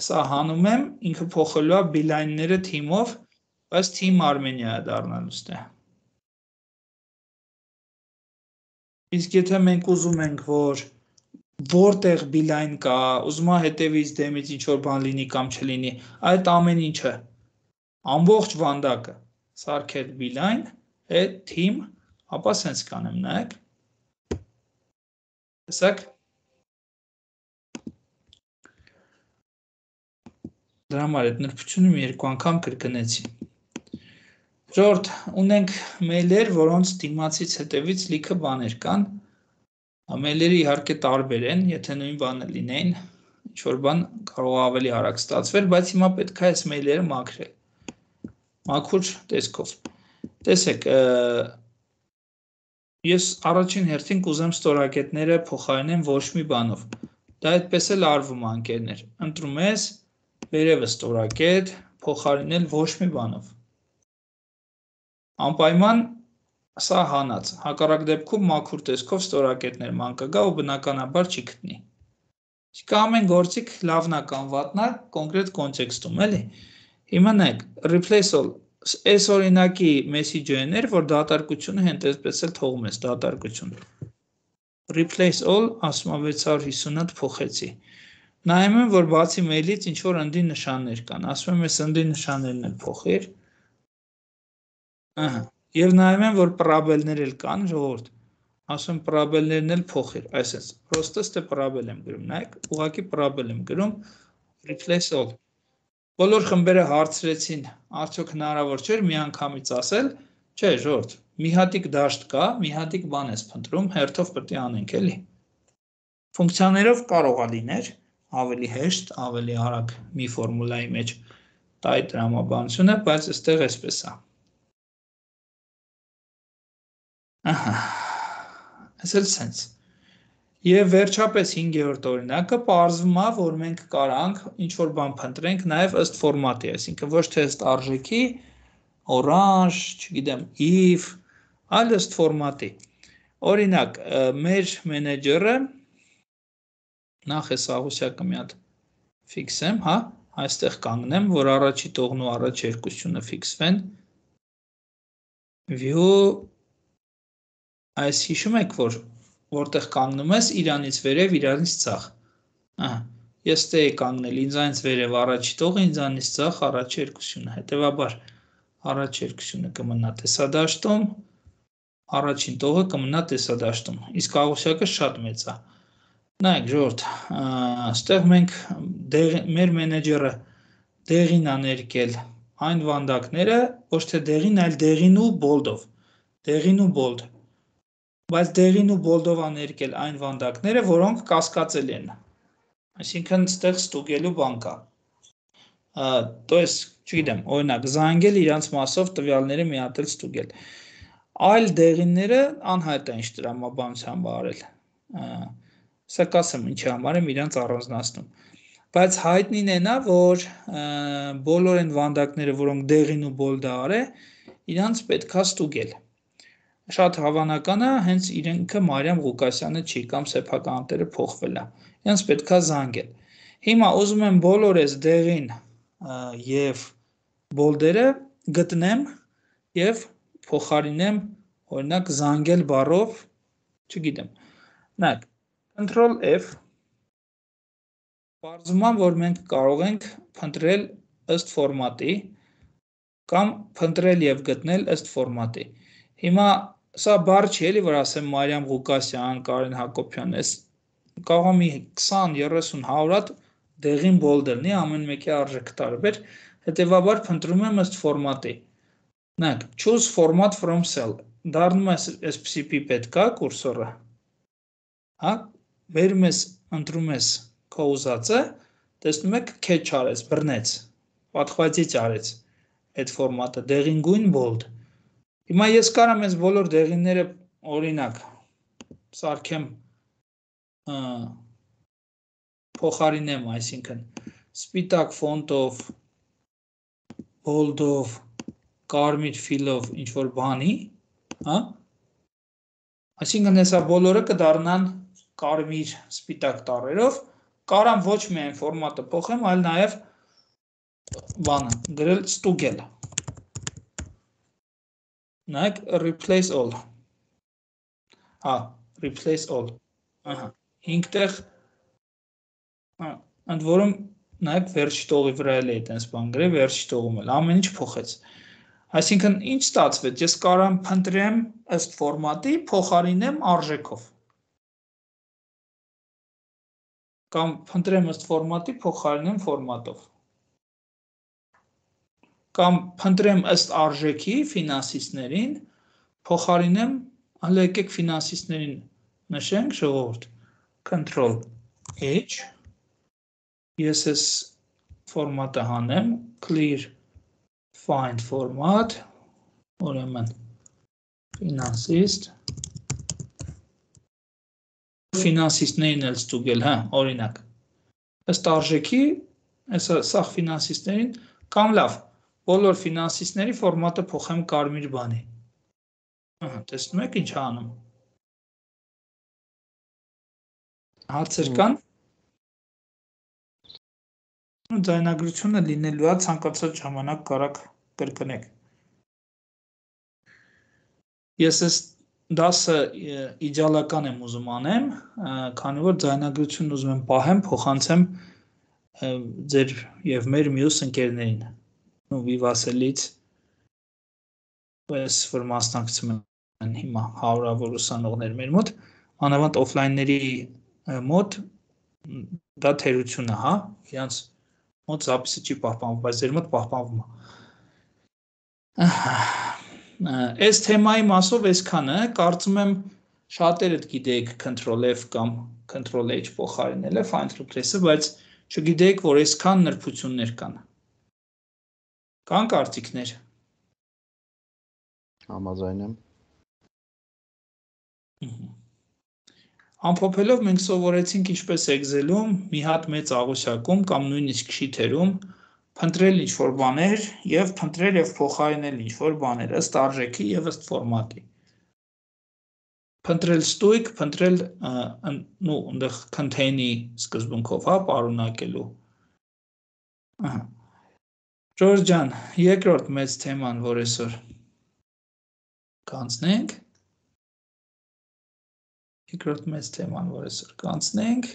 Սա հանում եմ, ինքը փոխելու է Beeline-ները թիմով, բայց Team Armenia է դառնալու ստե։ Իսկ եթե մենք ուզում ենք, որ որտեղ Beeline կա, ուզում է հետևից դեմից ինչ-որ բան լինի կամ չլինի, այդ ամեն ինչը, ամբողջ վանդակը, սարքել Beeline, այդ Team, ապա սենց կանեմ, նայեք։ Տեսակ։ Դրա համար այդ նրբությունը մի երկու անգամ կրկնեցի։ Ժորդ, ունենք մեյլեր, որոնց դիմացից հետևից լիքը բաներ կան։ Մեյլերը իհարկե տարբեր են, եթե նույն բանը լինեին, ինչ-որ բան կարող ավելի արագ ստացվեր, բայց հիմա պետք է այս մեյլերը մաքրել։ Մաքուր տեսքով։ Տեսեք, ես առաջին հերթին կուզեմ ստորակետները փոխարինեմ ոչ մի բանով։ Դա այդպես էլ արվում է, ընկերներ։ Ընտրում ես վերևը ստորակետ, փոխարինել ոչ մի բանով։ Անպայման սա հանած, հակառակ դեպքում մաքուր տեսքով ստորակետներ ման կգա ու բնականաբար չի գտնի։ Իսկ ամեն գործիք լավն է կամ վատն է կոնկրետ կոնտեքստում, էլի։ Հիմա նայեք, replace all, այս օրինակի message-ն էր, որ դատարկությունը հենց էլ թողում ես դատարկություն։ Replace all, ասում եմ վեց հարյուր հիսուն հատ փոխեցի։ Նայում եմ, որ բացի մեյլից ինչ որ ընդի նշաններ կան, ասում եմ այս ընդի նշաններն էլ փոխիր։ Ահա, եւ նայում եմ, որ պրաբելներ էլ կան, ժողովուրդ, ասում պրաբելներն էլ փոխիր, այսպես, պրոստը ստե պրաբել եմ գրում, նայեք, ուղղակի պրաբել եմ գրում, replace all։ Բոլոր խմբերը հարցրեցին, արդյոք հնարավոր չէր մի անգամից ասել, չէ, ժողովուրդ, մի հատիկ դաշտ կա, մի հատիկ բան ես փնտրում, հերթով պետք է անենք, էլի։ Ֆունկցիաներով կարող է լիներ, ավելի հեշտ, ավելի արագ մի ֆորմուլայի մեջ տայի տրամաբանությունը, բայց այստեղ այսպես է։ Ահա, այս էլ սենց։ Եվ վերջապես հինգերորդ օրինակը պարզվում է, որ մենք կարանք ինչ-որ բան փնտրենք նաև ըստ ֆորմատի, այսինքն ոչ թե ըստ արժեքի, orange, չգիտեմ, if, այլ ըստ ֆորմատի։ Օրինակ, մեր մենեջերը, նախ այս աղուսյակը մի հատ ֆիքսեմ, հա, այստեղ կանգնեմ, որ առաջի տողն ու առաջերկությունը ֆիքսվեն, view, այս հիշում եք, որ որտեղ կանգնում ես, իրանից վերև, իրանից ցախ։ Ահա, ես ստե եի կանգնել, ինձանից վերև առաջի տողը, ինձանից ցախ առաջերկությունը, հետևաբար առաջերկությունը կմնա տեսադաշտում, առաջին տողը կմնա տեսադաշտում, իսկ աղուսյակը շատ մեծ է։ Նայեք, ժողովուրդ, այստեղ մենք մեր մենեջերը դեղին է ներկել այն վանդակները, ոչ թե դեղին, այլ դեղին ու բոլդով, դեղին ու բոլդ։ Բայց դեղին ու բոլդով աներկել այն վանդակները, որոնք կասկածել են, այսինքն ստեղ ստուգելու բան կա, то есть, չգիտեմ, օրինակ, զանգել իրանց մասով տվյալները միատել ստուգել, այլ դեղինները անհայտ է ինչ տրամաբանությամբ արել, սա կասեմ ինչի համար եմ իրանց առանձնացնում, բայց հայտնին է նա, որ բոլոր են վանդակները, որոնք դեղին ու բոլդ արե, իրանց պետք է ստուգել, շատ հավանական է, հենց իրենքը Մարիամ Ղուկասյանը չի, կամ սեփական տերը փոխվել է, իրենց պետք է զանգել, հիմա ուզում եմ բոլոր այս դեղին և բոլդերը գտնեմ և փոխարինեմ, օրինակ զանգել բառով, չգիտեմ, նայեք, Control F, պարզվում է, որ մենք կարող ենք փնտրել ըստ ֆորմատի, կամ փնտրել և գտնել ըստ ֆորմատի, հիմա սա բառ չի էլի, որ ասեմ Մարիամ Ղուկասյան, Կարեն Հակոբյան, այս կարող մի քսան, երեսուն, հարյուր հատ դեղին բոլդ լինի, ամեն մեկի արժեքը տարբեր, հետևաբար փնտրում եմ ըստ ֆորմատի։ Նայեք, choose format from cell, դառնում է այսպիսի պիպետ կա կուրսորը, հա, բերում ես, ընտրում ես քո ուզածը, տեսնում եք catch արեց, բռնեց, պատխվածիչ արեց այդ ֆորմատը, դեղին գույն բոլդ։ Հիմա ես կարամ ես բոլոր դեղինները օրինակ սարքեմ փոխարինեմ, այսինքն սպիտակ ֆոնտով, բոլդով, կարմիր ֆիլով ինչ-որ բանի, հա, այսինքն հեսա բոլորը կդառնան կարմիր սպիտակ տառերով, կարամ ոչ միայն ֆորմատը փոխեմ, այլ նաև բանը, գրել ստուգել։ Նայեք, replace all, հա, replace all, ահա, հինգտեղ, ընդ որում, նայեք, վերջի տողի վրա էլ է այդպես բան գրել, վերջի տողում էլ, ամեն ինչ փոխեց, այսինքն ինչ ստացվեց, ես կարամ փնտրեմ ըստ ֆորմատի, փոխարինեմ արժեքով, կամ փնտրեմ ըստ ֆորմատի, փոխարինեմ ֆորմատով, կամ փնտրեմ ըստ արժեքի ֆինանսիստներին, փոխարինեմ, հələ եկեք ֆինանսիստներին նշենք, ժողովուրդ, control H, ես ես ֆորմատը հանեմ, clear find format, ուրեմն ֆինանսիստ, ֆինանսիստներին էլ ստուգել, հա, օրինակ, ըստ արժեքի, սաղ ֆինանսիստներին, կամ լավ, բոլոր ֆինանսիստների ֆորմատը փոխեմ կարմիր բանի, տեսնում եք ինչ անում, հացեր կան, ձայնագրությունը լինելու է ցանկացած ժամանակ կարակ կրկնեք, ես ես դասը իդեալական եմ ուզում անեմ, քանի որ ձայնագրությունն ուզում եմ պահեմ, փոխանցեմ ձեր եւ մեր մյուս ընկերներին, ու Վիվասելից, ես որ մասնակցում են հիմա հարյուրավոր ուսանողներ մեր մոտ, անավանդ օֆլայնների մոտ դա թերություն է, հա, իրանց մոտ զապիսը չի պահպանվում, բայց ձեր մոտ պահպանվում է։ Այս թեմայի մասով այսքանը, կարծում եմ շատերդ գիտեք control F կամ control H փոխարինել է find replace-ը, բայց չգիտեք, որ այսքան նրբություններ կան։ Կան կարծիքներ։ Համաձայն եմ։ Ամփոփելով մենք սովորեցինք ինչպես Excel-ում, մի հատ մեծ աղյուսակում կամ նույնիսկ շիթերում փնտրել ինչ-որ բաներ եւ փնտրել եւ փոխարինել ինչ-որ բաներ ըստ արժեքի եւ ըստ ֆորմատի։ Փնտրել ստույգ, փնտրել նու այնտեղ contain-ի սկզբունքով, հա, պարունակելու։ Ահա։ Ժորժ ջան, երկրորդ մեծ թեման, որ այսօր կանցնենք։ Երկրորդ մեծ թեման, որ այսօր կանցնենք։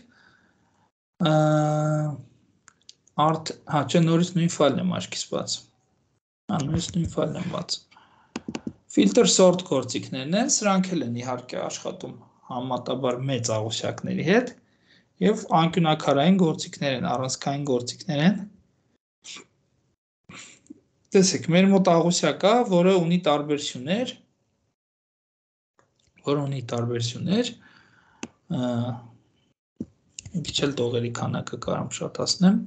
Արդ, հա, չէ, նորից նույն ֆայլն եմ աչքիս բացում։ Հա, նորից նույն ֆայլն եմ բացում։ Filter sort գործիքներն են, սրանք էլ են իհարկե աշխատում համեմատաբար մեծ աղյուսակների հետ եւ անկյունակարային գործիքներ են, առանցքային գործիքներ են։ Տեսեք, մեր մոտ աղյուսակ կա, որը ունի տարբերություններ, որը ունի տարբերություններ, մի քիչ էլ տողերի քանակը կարամ շատացնեմ։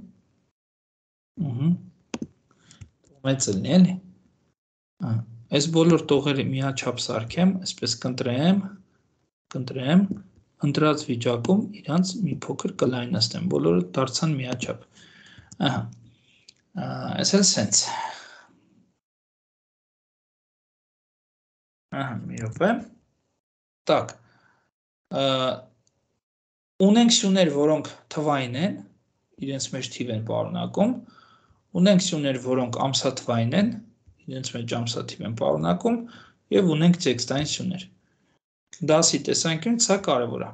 Ահա։ Մեծ լինի, էլի։ Այս բոլոր տողերը միաչափ սարքեմ, այսպես կընտրեմ, կընտրեմ, ընտրած վիճակում իրանց մի փոքր կլայնացնեմ, բոլորը դարձան միաչափ։ Ահա։ Այս էլ սենց։ Ահա, մի րոպե։ Так։ Ունենք սյուներ, որոնք թվային են, իրենց մեջ թիվ են պարունակում, ունենք սյուներ, որոնք ամսաթվային են, իրենց մեջ ամսաթիվ են պարունակում, եւ ունենք տեքստային սյուներ։ Դասի տեսանկյունից սա կարևոր է։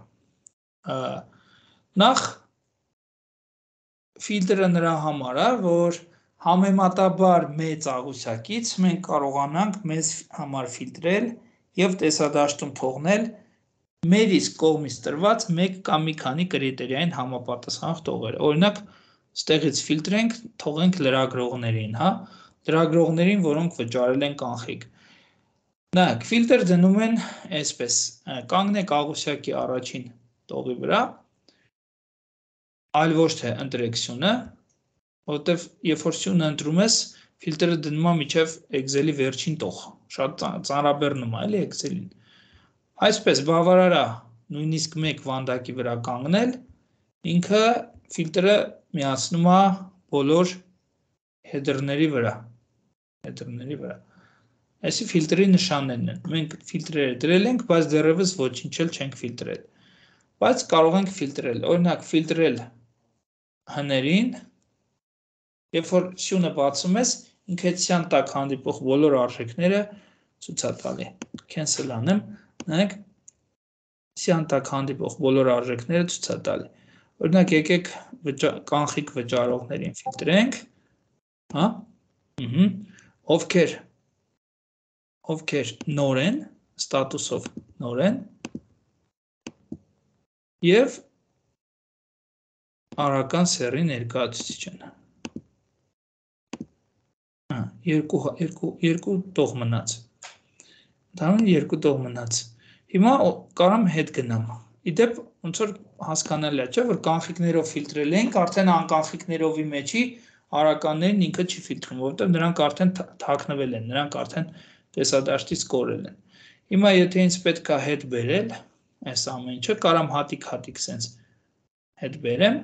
Նախ ֆիլտրը նրա համար է, որ համեմատաբար մեծ աղյուսակից մենք կարողանանք մեզ համար ֆիլտրել եւ տեսադաշտում թողնել մեր իսկ կողմից տրված մեկ կամ մի քանի կրիտերիային համապատասխանող տողերը։ Օրինակ, ստեղից ֆիլտրենք, թողենք լրագրողներին, հա, լրագրողներին, որոնք վճարել են կանխիկ։ Նայեք, ֆիլտր դնում են այսպես, կանգնեք աղյուսակի առաջին տողի վրա, այլ ոչ թե ընտրեք սյունը, որովհետև երբ որ սյունը ընտրում ես, ֆիլտրը դնում է մինչև Excel-ի վերջին տող, շատ ծանրաբեռնում է, էլի Excel-ին։ Այսպես բավարար է նույնիսկ մեկ վանդակի վրա կանգնել, ինքը ֆիլտրը միացնում է բոլոր header-ների վրա, header-ների վրա։ Այսի ֆիլտրի նշաններն են։ Մենք ֆիլտրերը դրել ենք, բայց դեռևս ոչինչ էլ չենք ֆիլտրել։ Բայց կարող ենք ֆիլտրել, օրինակ ֆիլտրել հներին, երբ որ սյունը բացում ես, ինքը ցյան տակ հանդիպող բոլոր արժեքները ցույց է տալի։ Cancel անեմ, նայեք, ցյան տակ հանդիպող բոլոր արժեքները ցույց է տալի։ Օրինակ եկեք կանխիկ վճարողներին ֆիլտրենք, հա, ըհը, ովքեր ովքեր նոր են, ստատուսով նոր են, եւ արական սեռի ներկայացուցիչ են։ երկու տող մնաց։ Ընդհանրապես երկու տող մնաց։ Հիմա կարամ հետ գնամ։ Իդեպ ոնց որ հասկանալի է, չէ՞, որ կանֆիգներով ֆիլտրել ենք, արդեն անկանֆիգներովի մեջի արականներին ինքը չի ֆիլտրում, որովհետև նրանք արդեն թաքնվել են, նրանք արդեն տեսադաշտից կորել են։ Հիմա եթե ինձ պետք է հետ բերել, այս ամեն ինչը կարամ հատիկ-հատիկ սենց հետ բերեմ,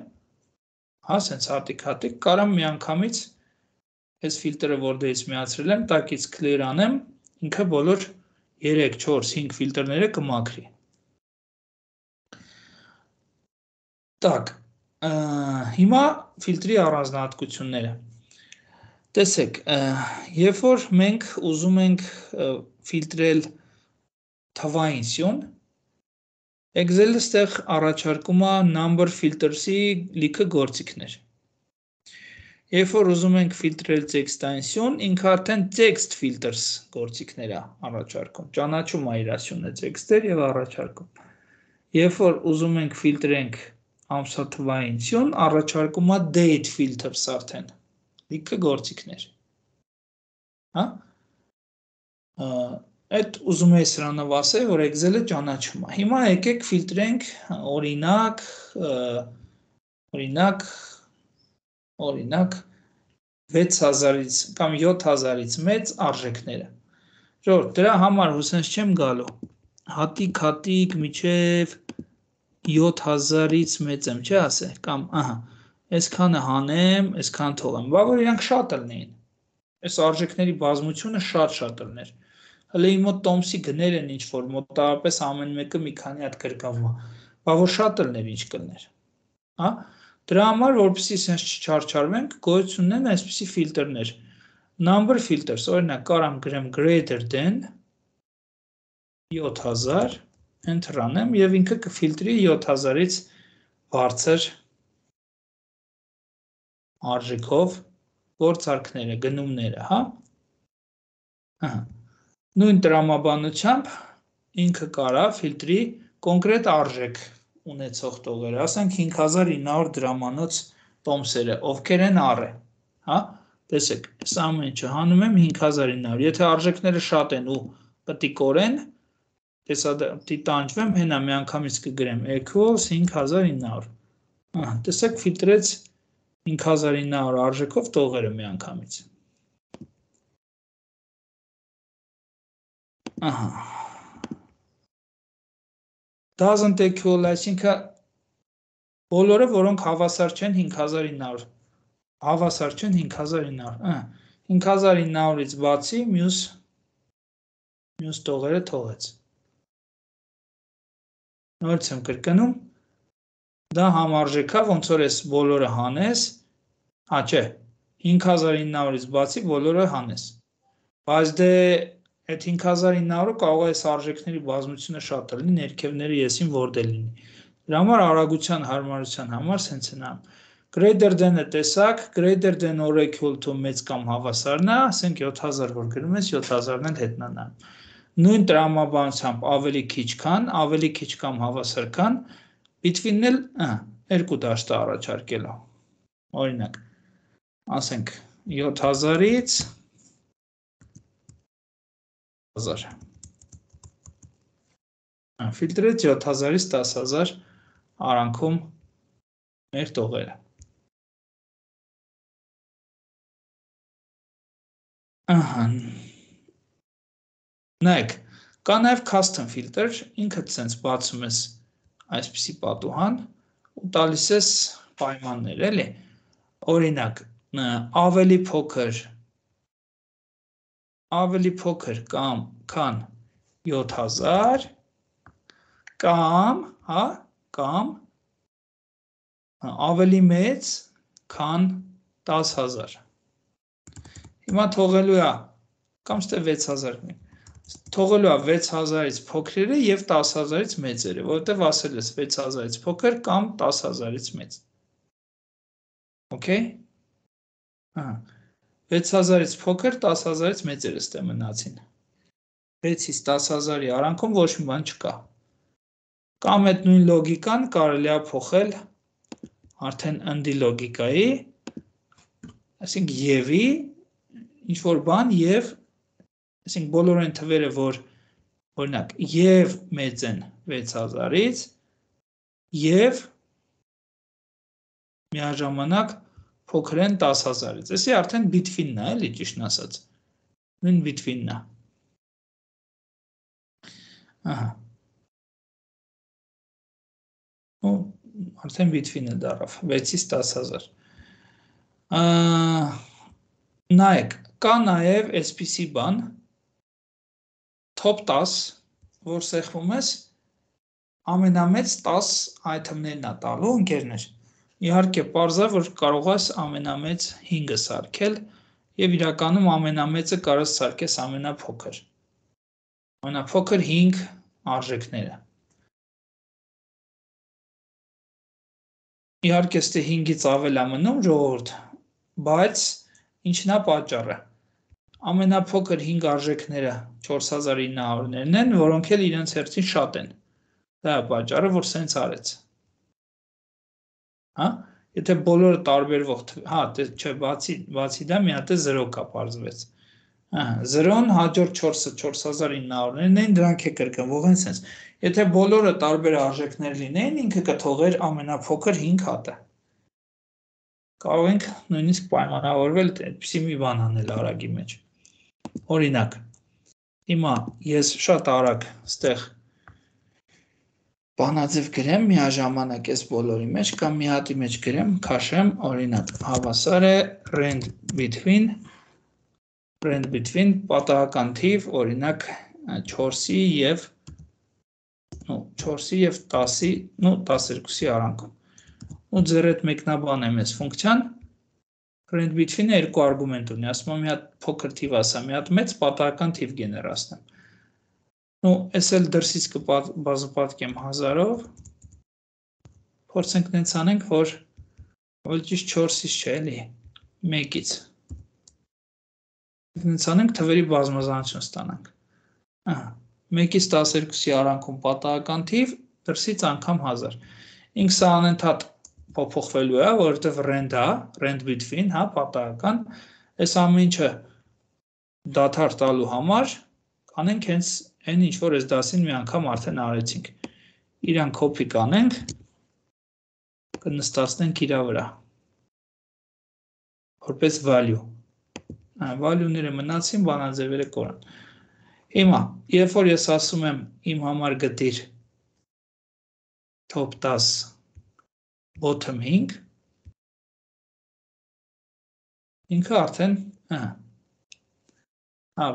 հա, սենց հատիկ-հատիկ, կարամ միանգամից այս ֆիլտրը, որ դից միացրել եմ, տակից clear անեմ, ինքը բոլոր երեք, չորս, հինգ ֆիլտրները կմաքրի։ Так, հիմա ֆիլտրի առանձնահատկությունները։ Տեսեք, երբ որ մենք ուզում ենք ֆիլտրել թվային սյուն, Excel-ը ստեղ առաջարկում է number filters-ի լիքը գործիքներ։ Երբ որ ուզում ենք ֆիլտրել տեքստային սյուն, ինքը արդեն text filters գործիքներ է առաջարկում։ Ճանաչում է իր սյունը տեքստեր եւ առաջարկում։ Երբ որ ուզում ենք ֆիլտրենք ամսաթվային սյուն, առաջարկում է date filters արդեն։ Լիքը գործիքներ։ Հա? Այդ ուզում եի սրանով ասել, որ Excel-ը ճանաչում է։ Հիմա եկեք ֆիլտրենք օրինակ, օրինակ, օրինակ վեց հազարից կամ յոթ հազարից մեծ արժեքները։ Ժողովուրդ, դրա համար հուսենց չեմ գալու։ Հատիկ-հատիկ միջև յոթ հազարից մեծ եմ, չէ՞ ասել, կամ ահա, այսքանը հանեմ, այսքան թողեմ, բա որ իրանք շատ լինեին։ Այս արժեքների բազմությունը շատ-շատ լիներ։ Հələ իմ մոտ տոմսի գներ են ինչ որ մոտավորապես ամեն մեկը մի քանի հատ գրկվում է, բա որ շատ լիներ ինչ կլներ, հա? Դրա համար որպեսզի sense չչարչարվենք, գոյություն ունեն այսպիսի ֆիլտրներ։ Number filters, օրինակ կարամ գրեմ greater than յոթ հազար, enter անեմ եւ ինքը կֆիլտրի յոթ հազարից բարձր արժեքով գործարքները, գնումները, հա? Ահա Նույն տրամաբանությամբ ինքը կարա ֆիլտրի կոնկրետ արժեք ունեցող տողերը, ասենք հինգ հազար ինը հարյուր դրամանոց տոմսերը, ովքեր են առե, հա, տեսեք, այս ամեն ինչը հանում եմ հինգ հազար ինը հարյուր, եթե արժեքները շատ են ու պտիկորեն, տեսադի տանջվեմ, հենա միանգամից կգրեմ equals հինգ հազար ինը հարյուր, ահա, տեսեք ֆիլտրեց հինգ հազար ինը հարյուր արժեքով տողերը միանգամից։ Ահա doesn't equal, այսինքն բոլորը, որոնք հավասար չեն հինգ հազար ինը հարյուր, հավասար չեն հինգ հազար ինը հարյուր, ահա, հինգ հազար ինը հարյուրից բացի մյուս մյուս տողերը թողեց։ Նորից եմ կրկնում, դա համարժեք է, ոնց որ այս բոլորը հանես, հա չէ, հինգ հազար ինը հարյուրից բացի բոլորը հանես։ Բայց դե այդ հինգ հազար ինը հարյուրը կարող է այս արժեքների բազմությունը շատ լինի, ներքևները եսին որտե լինի։ Դրա համար արագության հարմարության համար սենց են անում։ Greater than-ը տեսակ, greater than or equal to մեծ կամ հավասարն է, ասենք յոթ հազար որ գրում ես, յոթ հազարն էլ հետն անա։ Նույն տրամաբանությամբ ավելի քիչ քան, ավելի քիչ կամ հավասար քան, between-ն էլ, ահա, երկու դաշտ առաջարկել է։ Օրինակ, ասենք յոթ հազարից հազար։ Ֆիլտրեց յոթ հազարից դաս հազար արանքում մեր տողերը։ Ահա։ Նայեք, կա նաև custom filter, ինքդ սենց բացում ես այսպիսի պատուհան ու տալիս ես պայմաններ, էլի։ Օրինակ, ավելի փոքր ավելի փոքր կամ քան յոթ հազար կամ, հա, կամ ավելի մեծ քան դաս հազար։ Հիմա թողելու է կամ ստե վեց հազար թողելու է վեց հազարից փոքրերը եւ դաս հազարից մեծերը, որովհետեւ ասել ես վեց հազարից փոքր կամ դաս հազարից մեծ։ Okay? Ահա վեց հազարից փոքր, դաս հազարից մեծերը ստե մնացին։ վեցից դաս հազարի արանքում ոչ մի բան չկա։ Կամ այդ նույն լոգիկան կարելի է փոխել արդեն ընդի լոգիկայի, այսինքն եւի ինչ-որ բան և, այսինքն բոլոր այն թվերը, որ օրինակ, և մեծ են վեց հազարից, և միաժամանակ փոքր են տաս հազարից։ Էսի արդեն between-ն է, էլի ճիշտն ասած։ Նույն between-ն է։ Ահա։ Ու արդեն between-ը դարավ, վեցից տաս հազար։ Նայեք, կա նաև այսպիսի բան, top տաս, որ սեղվում ես, ամենամեծ տաս item-ներն է տալու, ընկերներ։ Իհարկե, պարզ է, որ կարող ես ամենամեծ հինգը սարքել, և իրականում ամենամեծը կարող ես սարքես ամենափոքր։ Ամենափոքր հինգ արժեքները։ Իհարկե, ստե հինգից ավել է մնում, ժողովուրդ, բայց ինչն է պատճառը։ Ամենափոքր հինգ արժեքները չորս հազար ինը հարյուրներն են, որոնք էլ իրենց հերթին շատ են։ Դա է պատճառը, որ սենց արեց։ Հա, եթե բոլորը տարբերվող, հա, չէ, բացի, բացի դա մի հատ է զրո կա պարզվեց։ Զրոն հաջորդ չորսը չորս հազար ինը հարյուրներն են, դրանք է կրկնվող են սենց։ Եթե բոլորը տարբեր արժեքներ լինեին, ինքը կթողեր ամենափոքր հինգ հատը։ Կարող ենք նույնիսկ պայմանավորվել այդպիսի մի բան անել արագի մեջ։ Օրինակ, հիմա ես շատ արագ ստեղ բանաձև գրեմ միաժամանակ այս բոլորի մեջ կամ մի հատի մեջ գրեմ, քաշեմ, օրինակ, հավասար է rand between rand between պատահական թիվ, օրինակ չորսի եւ չորսի եւ տասի, նո տասներկուսի արանքում։ Ու ձեր այդ մեկնաբան եմ ես ֆունկցիան rand between-ը երկու արգումենտ ունի, ասում եմ մի հատ փոքր թիվ ասա, մի հատ մեծ պատահական թիվ գեներացնեմ։ Նու, ես էլ դրսից կբազուպատկեմ հազարով, փորձենք նենց անենք, որ որ ճիշտ չորսից չէ, էլի, մեկից։ Նենց անենք թվերի բազմազանություն ստանանք։ Մեկից տասներկուսի արանքում պատահական թիվ, դրսից անգամ հազար։ Ինք սա անընդհատ փոփոխվելու է, որովհետև rand է, rand between, հա, պատահական, այս ամեն ինչը դադար տալու համար կանենք հենց այն ինչ որ այս դասին մի անգամ արդեն արեցինք։ Իրան copy կանենք, կնստացնենք իրա վրա։ Որպես value։ Value-ները մնացին, բանաձևերը կորան։ Հիմա, երբ որ ես ասում եմ իմ համար գտիր top տաս bottom հինգ, ինքը արդեն, հա,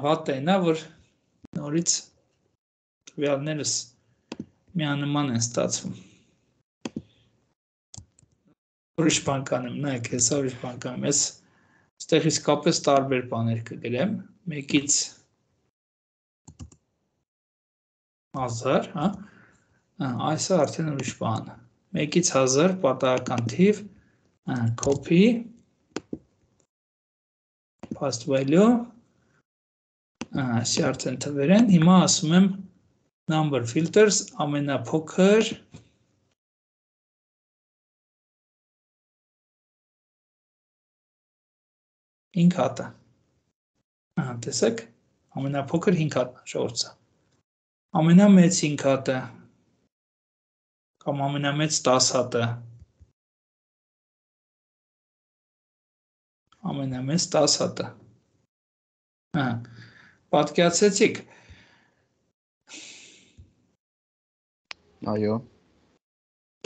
վատտեն է, որ նորից տվյալներս միանման են ստացվում։ Ուրիշ բան կանեմ, նայեք, հեսա ուրիշ բան կանեմ, ես ստեղ իսկապես տարբեր բաներ կգրեմ, մեկից հազար, հա, այսը արդեն ուրիշ բան, մեկից հազար պատահական թիվ, copy, paste value, այսի արդեն թվեր են, հիմա ասում եմ number filters, ամենափոքր, հինգ հատը, տեսեք, ամենափոքր հինգ հատն ժողովուրդ, ամենամեծ հինգ հատը, կամ ամենամեծ տաս հատը, ամենամեծ տաս հատը, պատկերացրեցիք, այո,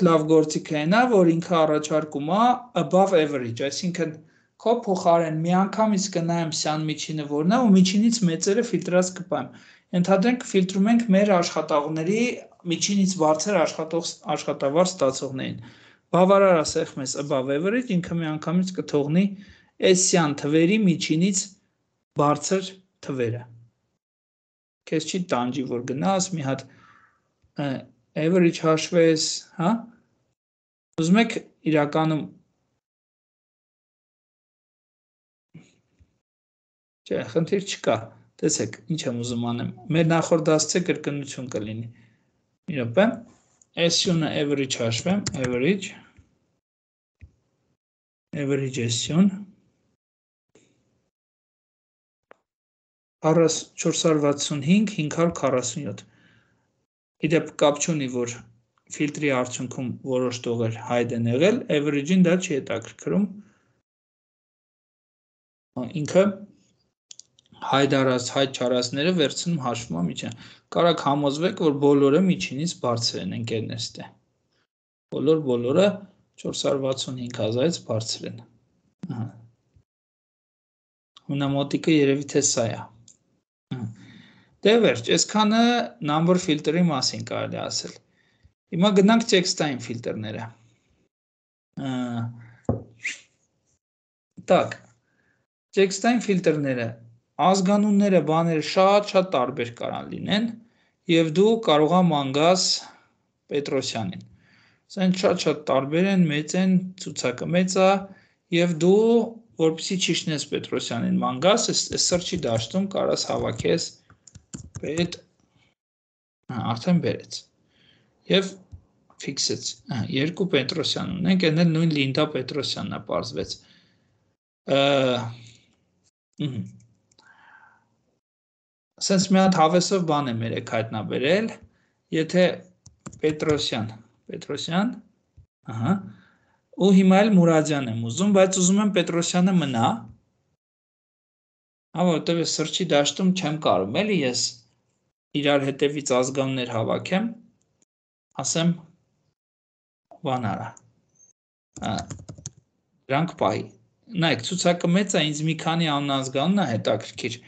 լավ գործիք է նա, որ ինքը առաջարկում է above average, այսինքն քո փոխարեն մի անգամից կնայեմ սյան միջինը որն է ու միջինից մեծերը ֆիլտրած կպայեմ։ Ենթադրենք ֆիլտրում ենք մեր աշխատողների միջինից բարձր աշխատավարձ ստացողներին։ Բավարար ասենք մեզ above average, ինքը մի անգամից կթողնի այս սյան թվերի միջինից բարձր թվերը։ Քեզ չի տանջի, որ գնաս մի հատ average հաշվես, հա։ Ուզում եք իրականում Չէ, խնդիր չկա, տեսեք, ինչ եմ ուզում անեմ, մեր նախորդ դասցե կրկնություն կլինի, մի րոպե, S յունը average հաշվեմ, average, average S յուն, չորս հարյուր վաթսունհինգ, հինգ հարյուր քառասունյոթ։ Իդեպ կապ չունի, որ ֆիլտրի արդյունքում որոշ տողեր հայտ են եղել, average-ին դա չի հետաքրքրում։ Ինքը հայտ արած, հայտ չարածները վերցնում հաշվում միջին։ Կարաք համոզվեք, որ բոլորը միջինից բարձր են ընկերներս տե։ Բոլոր բոլորը չորս հարյուր վաթսունհինգ հազարից բարձր են։ Հունամոտիկը երևի թե սա է։ Դե վերջ, այսքանը number filter-ի մասին կարելի ասել։ Հիմա գնանք տեքստային ֆիլտրները։ Так, տեքստային ֆիլտրները ազգանունները, բաները շատ-շատ տարբեր կարան լինեն եւ դու կարող ես մանգաս Պետրոսյանին։ Սենց շատ-շատ տարբեր են, մեծ են, ցուցակը մեծ է եւ դու որպեսզի չիշնես Պետրոսյանին մանգաս, այս սրճի դաշտում կարաս հավաքես Պետ արդեն բերեց։ Եվ ֆիքսեց։ Երկու Պետրոսյան ունենք, այն էլ նույն Լինդա Պետրոսյանն է պարզվեց։ Սենց մի հատ հավեսով բան եմ երեք հայտնաբերել, եթե Պետրոսյան, Պետրոսյան, ահա, ու հիմա էլ Մուրադյան եմ ուզում, բայց ուզում եմ Պետրոսյանը մնա, որովհետև ես սրճի դաշտում չեմ կարում, էլի ես իրար հետևից ազգանուններ հավաքեմ, ասեմ բան արա, դրանք պահի, նայեք, ցուցակը մեծ է, ինձ մի քանի անազգանուն է հետաքրքիր,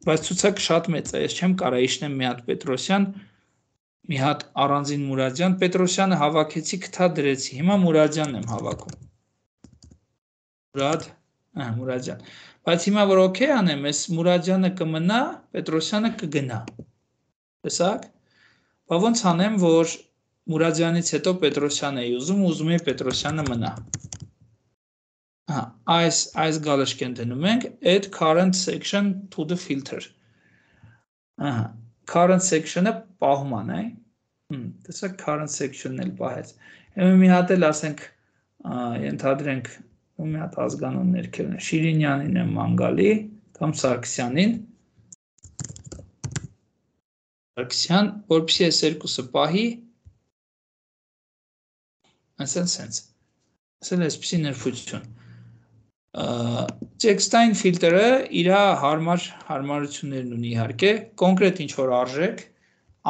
բայց ցուցակը շատ մեծ է, ես չեմ կարա իշնեմ մի հատ Պետրոսյան, մի հատ առանձին Մուրադյան, Պետրոսյանը հավաքեցի, կթա դրեցի, հիմա Մուրադյանն եմ հավաքում, Մուրադ, Մուրադյան, բայց հիմա որ օքեյ անեմ, ես Մուրադյանը կմնա, Պետրոսյանը կգնա, տեսակ, բա ոնց անեմ, որ Մուրադյանից հետո Պետրոսյան էի ուզում, ուզում էի Պետրոսյանը մնա, այս, այս գալշկեն դնում ենք, add current section to the filter, current section-ը պահում ան է, տեսակ current section-ն էլ պահեց, եմ մի հատ էլ ասենք, ենթադրենք, ու մի հատ ազգանուն ներքելն է, Շիրինյանին եմ մանգալի, կամ Սարգսյանին, Սարգսյան, որպեսզի այս երկուսը պահի, ասեն սենց, ասել այսպիսի ներբույթություն, տեքստային ֆիլտրը իր հարմար հարմարություններն ունի իհարկե, կոնկրետ ինչ-որ արժեք,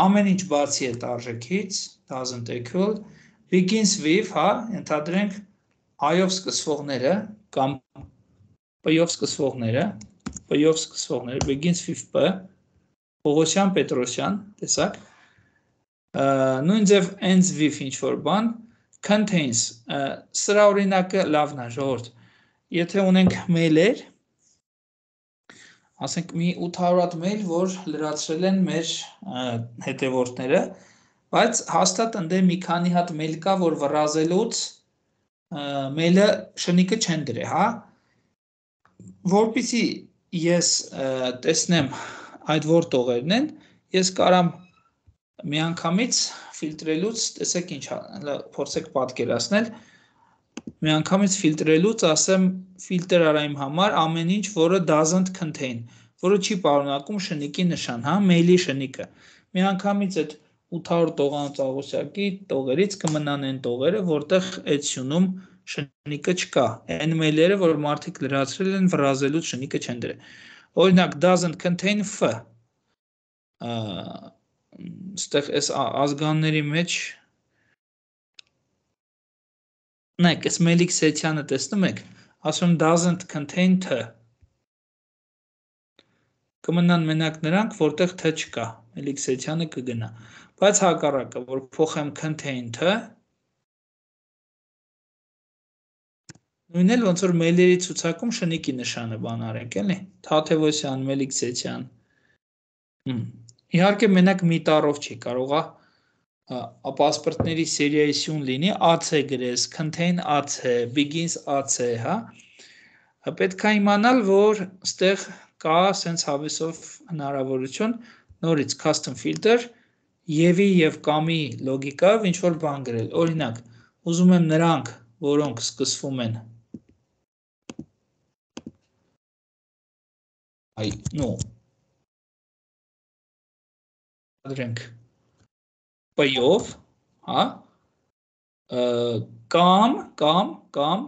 ամեն ինչ բացի այդ արժեքից, doesn't equal, begins with, հա, ենթադրենք I-ով սկսվողները, կամ P-ով սկսվողները, P-ով սկսվողները, begins with P, Պողոսյան, Պետրոսյան, տեսակ, նույն ձև ends with ինչ-որ բան, contains, սրա օրինակը լավն է, ժողովուրդ, եթե ունենք մեյլեր, ասենք մի ութ հարյուր հատ մեյլ, որ լրացրել են մեր հետևորդները, բայց հաստատ ընդե մի քանի հատ մեյլ կա, որ վռազելուց մեյլը շնիկը չեն դրե, հա, որպեսզի ես տեսնեմ այդ որ տողերն են, ես կարամ միանգամից ֆիլտրելուց, տեսեք ինչ, փորձեք պատկերացնել, միանգամից ֆիլտրելուց ասեմ ֆիլտր արա իմ համար ամեն ինչ, որը doesn't contain, որը չի պարունակում շնիկի նշան, հա, մեյլի շնիկը, միանգամից այդ ութ հարյուր տողանոց աղոսյակի տողերից կմնան են տողերը, որտեղ այդ սյունում շնիկը չկա, այն մեյլերը, որ մարդիկ լրացրել են վռազելուց շնիկը չեն դրել, օրինակ doesn't contain F, ստեղ այս ազգանների մեջ նայք, այս Մելիք Սեթյանը տեսնում եք, ասում doesn't contain T, կմնան մենակ նրանք, որտեղ T չկա, Մելիք Սեթյանը կգնա, բայց հակառակը, որ փոխեմ contain T, նույն էլ ոնց որ մեյլերի ցուցակում շնիկի նշանը բան արենք, էլի, Թաթևոսյան, Մելիք Սեթյան, իհարկե մենակ մի տառով չի, կարողա պասպորտների սերիայի սյուն լինի, A C գրես, contain A C, begins A C, հա, պետք է իմանալ, որ ստեղ կա սենց հավեսով հնարավորություն, նորից custom filter, եվի և կամի լոգիկավ ինչ-որ բան գրել, օրինակ, ուզում եմ նրանք, որոնք սկսվում են, այ, նո, ենթադրենք P-ով, հա, կամ, կամ, կամ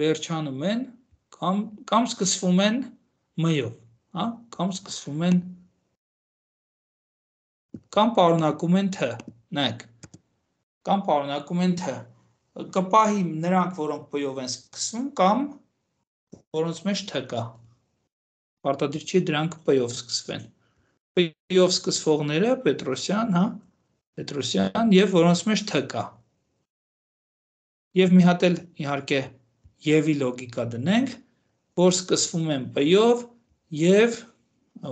վերջանում են, կամ, կամ սկսվում են M-ով, հա, կամ սկսվում են, կամ պարունակում են T, նայեք, կամ պարունակում են T, կպահի նրանք, որոնք P-ով են սկսվում, կամ որոնց մեջ T կա, պարտադիր չի դրանք P-ով սկսվեն, P-ով սկսվողները Պետրոսյան, հա, Պետրոսյան և որոնց մեջ T կա, և մի հատ էլ իհարկե եվի լոգիկա դնենք, որ սկսվում են P-ով և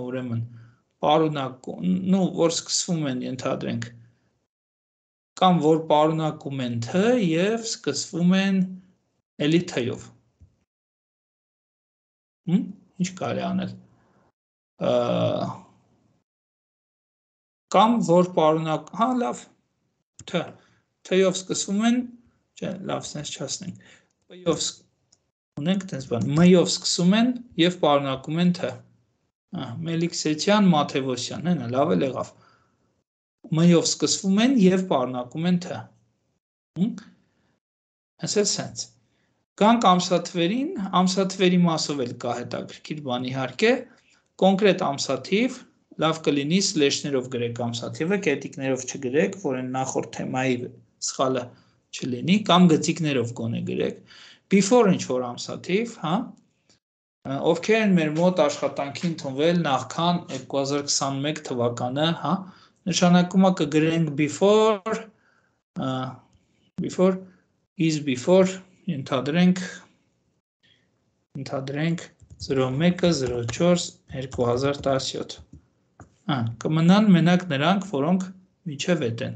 ուրեմն պարունակում, նու, որ սկսվում են ենթադրենք, կամ որ պարունակում են T և սկսվում են էլի T-ով, ինչ կարելի անել, կամ որ պարունակ, հա, լավ, T, T-ով սկսվում են, չէ, լավ, սենց չասնենք, P-ով ունենք տենց բան, M-ով սկսում են և պարունակում են T, Մելիքսեթյան, Մաթևոսյան, հենա, լավ էլ եղավ, M-ով սկսվում են և պարունակում են T, հենց էլ սենց, գանք ամսաթվերին, ամսաթվերի մասով էլ կա հետաքրքիր բան իհարկե, կոնկրետ ամսաթիվ, լավ կլինի սլեշներով գրեք ամսաթիվը, կետիկներով չգրեք, որ են նախորդ թեմայի սխալը չլինի, կամ գծիկներով գոնե գրեք, before ինչ-որ ամսաթիվ, հա, ովքեր են մեր մոտ աշխատանքի ընդունվել նախքան երկու հազար քսաներեք թվականը, հա, նշանակումը կգրենք before, before, is before, ենթադրենք, ենթադրենք զրո մեկ զրո չորս երկու հազար տասնյոթ, կմնան մենակ նրանք, որոնք միջև էտ են,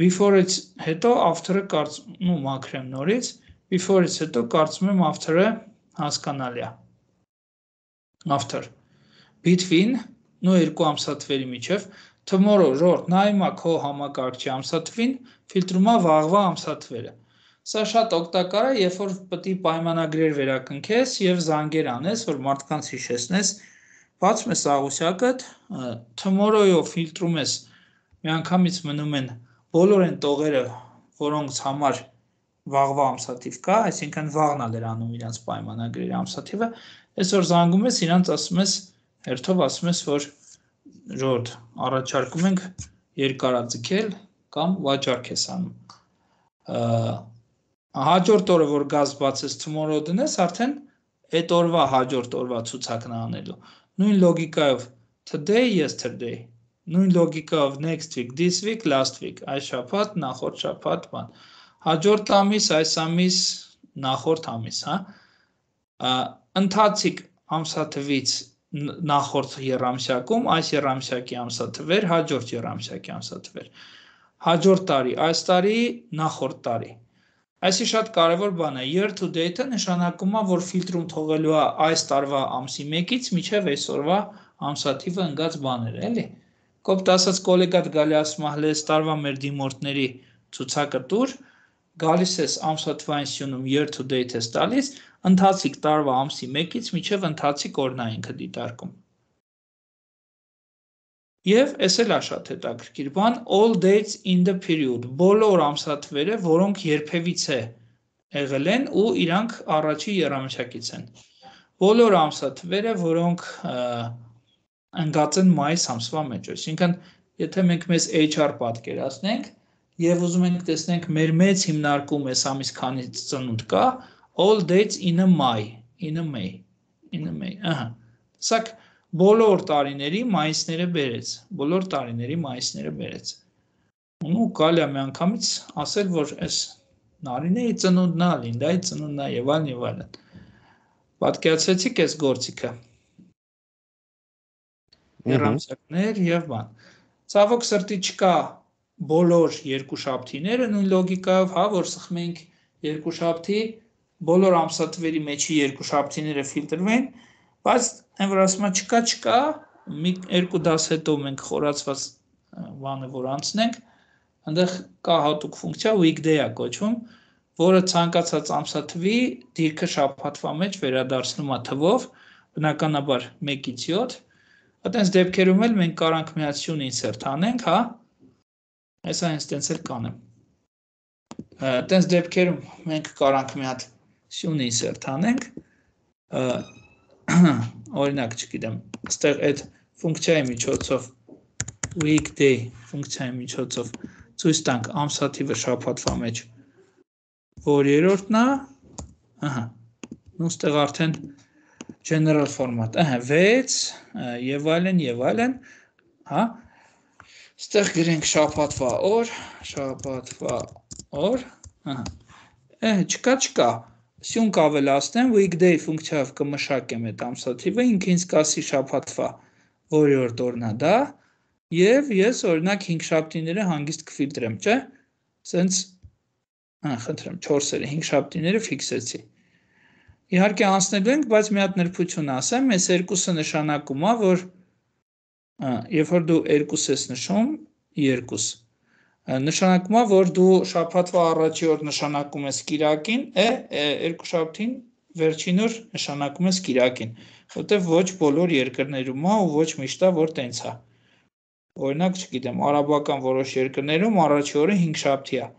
before-ից հետո after-ը կարծում, նու մաքրեմ նորից, before-ից հետո կարծում եմ after-ը հասկանալի է, after, between, նու երկու ամսաթվերի միջև, tomorrow, ժորդ, նա հիմա քո համակարգչի ամսաթվին, ֆիլտրումա վաղվա ամսաթվերը, սա շատ օգտակար է, երբ որ պետք է պայմանագրեր վերակնքես և զանգեր անես, որ մարդկանց հիշեցնես, բացում ես աղյուսակդ, tomorrow-ով ֆիլտրում ես, միանգամից մնում են բոլոր են տողերը, որոնց համար վաղվա ամսաթիվ կա, այսինքն վաղն ալ էր անում իրանց պայմանագրերի ամսաթիվը, այսօր զանգում ես, իրանց ասում ես, հերթով ասում ես, որ ժորդ, առաջարկում ենք երկարաձգել կամ վաճառք ես անում, հաջորդ օրը, որ գազ բացես tomorrow դնես, արդեն այդ օրվա հաջորդ օրվա ցուցակն անելու, նույն լոգիկայով today, yesterday, նույն լոգիկայով next week, this week, last week, այս շաբաթ, նախորդ շաբաթ, բան, հաջորդ ամիս, այս ամիս, նախորդ ամիս, հա, ընթացիկ ամսաթվից նախորդ եռամսյակում, այս եռամսյակի ամսաթվեր, հաջորդ եռամսյակի ամսաթվեր, հաջորդ տարի, այս տարի, նախորդ տարի, այսի շատ կարևոր բան է, year to date-ը նշանակում է, որ ֆիլտրում թողելու է այս տարվա ամսի մեկից միջև այսօրվա ամսաթիվը ընկած բաներ, էլի, կոպտ ասած կոլեգատ գալի ասում է, հլես տարվա մեր դիմորդների ցուցակը տուր, գալիս ես ամսաթվային սյունում year to date ես տալիս, ընթացիկ տարվա ամսի մեկից միջև ընթացիկ օրն է ինքը դիտարկում։ Եվ այս էլ է շատ հետաքրքիր բան, all dates in the period, բոլոր ամսաթվերը, որոնք երբևիցե եղել են ու իրանք առաջի եռամսյակից են։ Բոլոր ամսաթվերը, որոնք ընկած են մայիս ամսվա մեջ, այսինքն եթե մենք մեզ H R պատկերացնենք եւ ուզում ենք տեսնենք մեր մեծ հիմնարկում այս ամիս քանից ծնունդ կա, all dates in a May, in a May, in a May, ահա։ Սակ բոլոր տարիների մայիսները բերեց, բոլոր տարիների մայիսները բերեց։ Ու կարելի է միանգամից ասել, որ այս Նարինեի ծնունդն է, Լինդայի ծնունդն է եւ այլն եւ այլն։ Պատկերացրեցիք այս գործիքը։ Երամսյակներ եւ բան։ Ցավոք սրտի չկա բոլոր երկուշաբթիները նույն լոգիկայով, հա, որ սխմենք երկուշաբթի, բոլոր ամսաթվերի մեջի երկուշաբթիները ֆիլտրվեն, բայց այն որ ասում եմ չկա, չկա, մի երկու դաս հետո մենք խորացված բանը որ անցնենք, այնտեղ կա հատուկ ֆունկցիա weekday-ա կոչվում, որը ցանկացած ամսաթվի դիրքը շաբաթվա մեջ վերադարձնում է թվով, բնականաբար մեկից յոթ, Այդպես դեպքերում էլ մենք կարանք մի հատ սյուն insert անենք, հա։ Այս այն ստենց էլ կանեմ։ Այդպես դեպքերում մենք կարանք մի հատ սյուն insert անենք, օրինակ, չգիտեմ, այստեղ այդ ֆունկցիայի միջոցով weekday ֆունկցիայի միջոցով ցույց տանք ամսաթիվը շաբաթվա մեջ որ երրորդն է, ահա, ու այստեղ արդեն general format, ահա, վեց եւ այլն եւ այլն, հա, այստեղ գրենք շաբաթվա օր, շաբաթվա օր, ահա, ահա, չկա, չկա, սյուն կավելացնեմ, weekday ֆունկցիայով կմշակեմ այդ ամսաթիվը, ինքը ինձ կասի շաբաթվա որ երրորդ օրն է դա, եւ ես օրինակ հինգ շաբթիները հանգիստ կֆիլտրեմ, չէ՞, սենց Ահա, խնդրեմ, չորսերը, հինգ շաբթիները ֆիքսեցի։ Իհարկե անցնելու ենք, բայց մի հատ նրբություն ասեմ, այս երկուսը նշանակում է, որ երբ որ դու երկուս ես նշում, երկուս, նշանակում է, որ դու շաբաթվա առաջի օր նշանակում ես կիրակին, է, երկու շաբթին վերջին օր նշանակում ես կիրակին, որտեղ ոչ բոլոր երկրներում է ու ոչ միշտ է, որ տենց է։ Օրինակ, չգիտեմ, արաբական որոշ երկրներում առաջի օրը հինգ շաբթի է։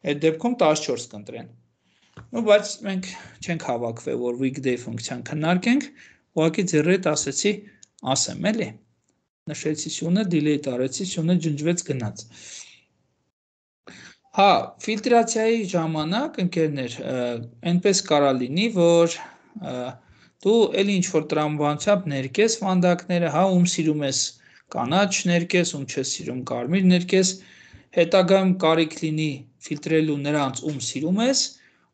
Այդ դեպքում տասնչորս կընտրեն։ Ու բայց մենք չենք հավաքվել, որ weekday ֆունկցիան քննարկենք, ուղղակի ձեռի հետ ասեցի, ասեմ, էլի։ Նշեցի սյունը, delete արեցի, սյունը ջնջվեց գնաց։ Հա, ֆիլտրացիայի ժամանակ, ընկերներ, այնպես կարա լինի, որ դու էլի ինչ-որ տրամաբանությամբ ներկես վանդակները, հա, ում սիրում ես կանաչ ներկես, ում չես սիրում կարմիր ներկես, հետագայում կարիք լինի ֆիլտրելու նրանց, ում սիրում ես,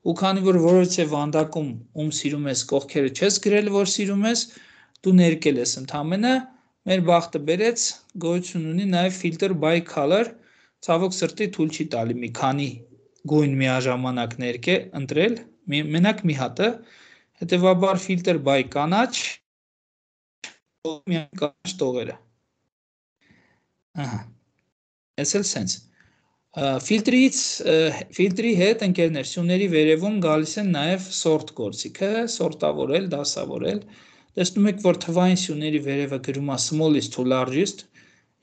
ու քանի որ որոշե վանդակում ում սիրում ես կողքերը չես գրել, որ սիրում ես, դու ներկել ես ընդամենը, մեր բախտը բերեց, գոյություն ունի նաև filter by color, ցավոք սրտի թույլ չի տալի մի քանի գույն միաժամանակ ներկե ընտրել, մենակ մի հատը, հետևաբար filter by կանաչ, միայն կանաչ տողերը։ Ահա, ես էլ սենց։ Ֆիլտրից, ֆիլտրի հետ ընկերներ սյուների վերևում գալիս են նաև sort գործիքը, սորտավորել, դասավորել, տեսնում եք, որ թվային սյուների վերևը գրում է smallest to largest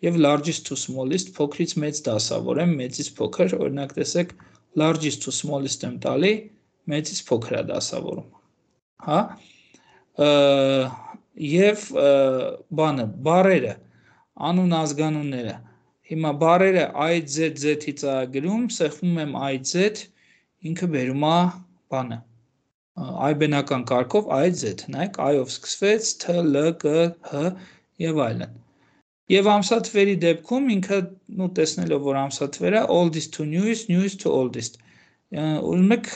և largest to smallest, փոքրից մեծ դասավորեմ, մեծից փոքր, օրինակ տեսեք, largest to smallest եմ տալի, մեծից փոքր է դասավորում, հա, և բանը, բարերը, անուն ազգանունները, հիմա բարերը I Z Z-ից է գրում, սեղմում եմ I Z, ինքը բերում է բանը, այբենական կարգով I Z, նայեք, I-ով սկսվեց, T, L, K, H և այլն։ Եվ ամսաթվերի դեպքում ինքը, նու տեսնելով, որ ամսաթվերը, oldest to newest, newest to oldest, ուզում եք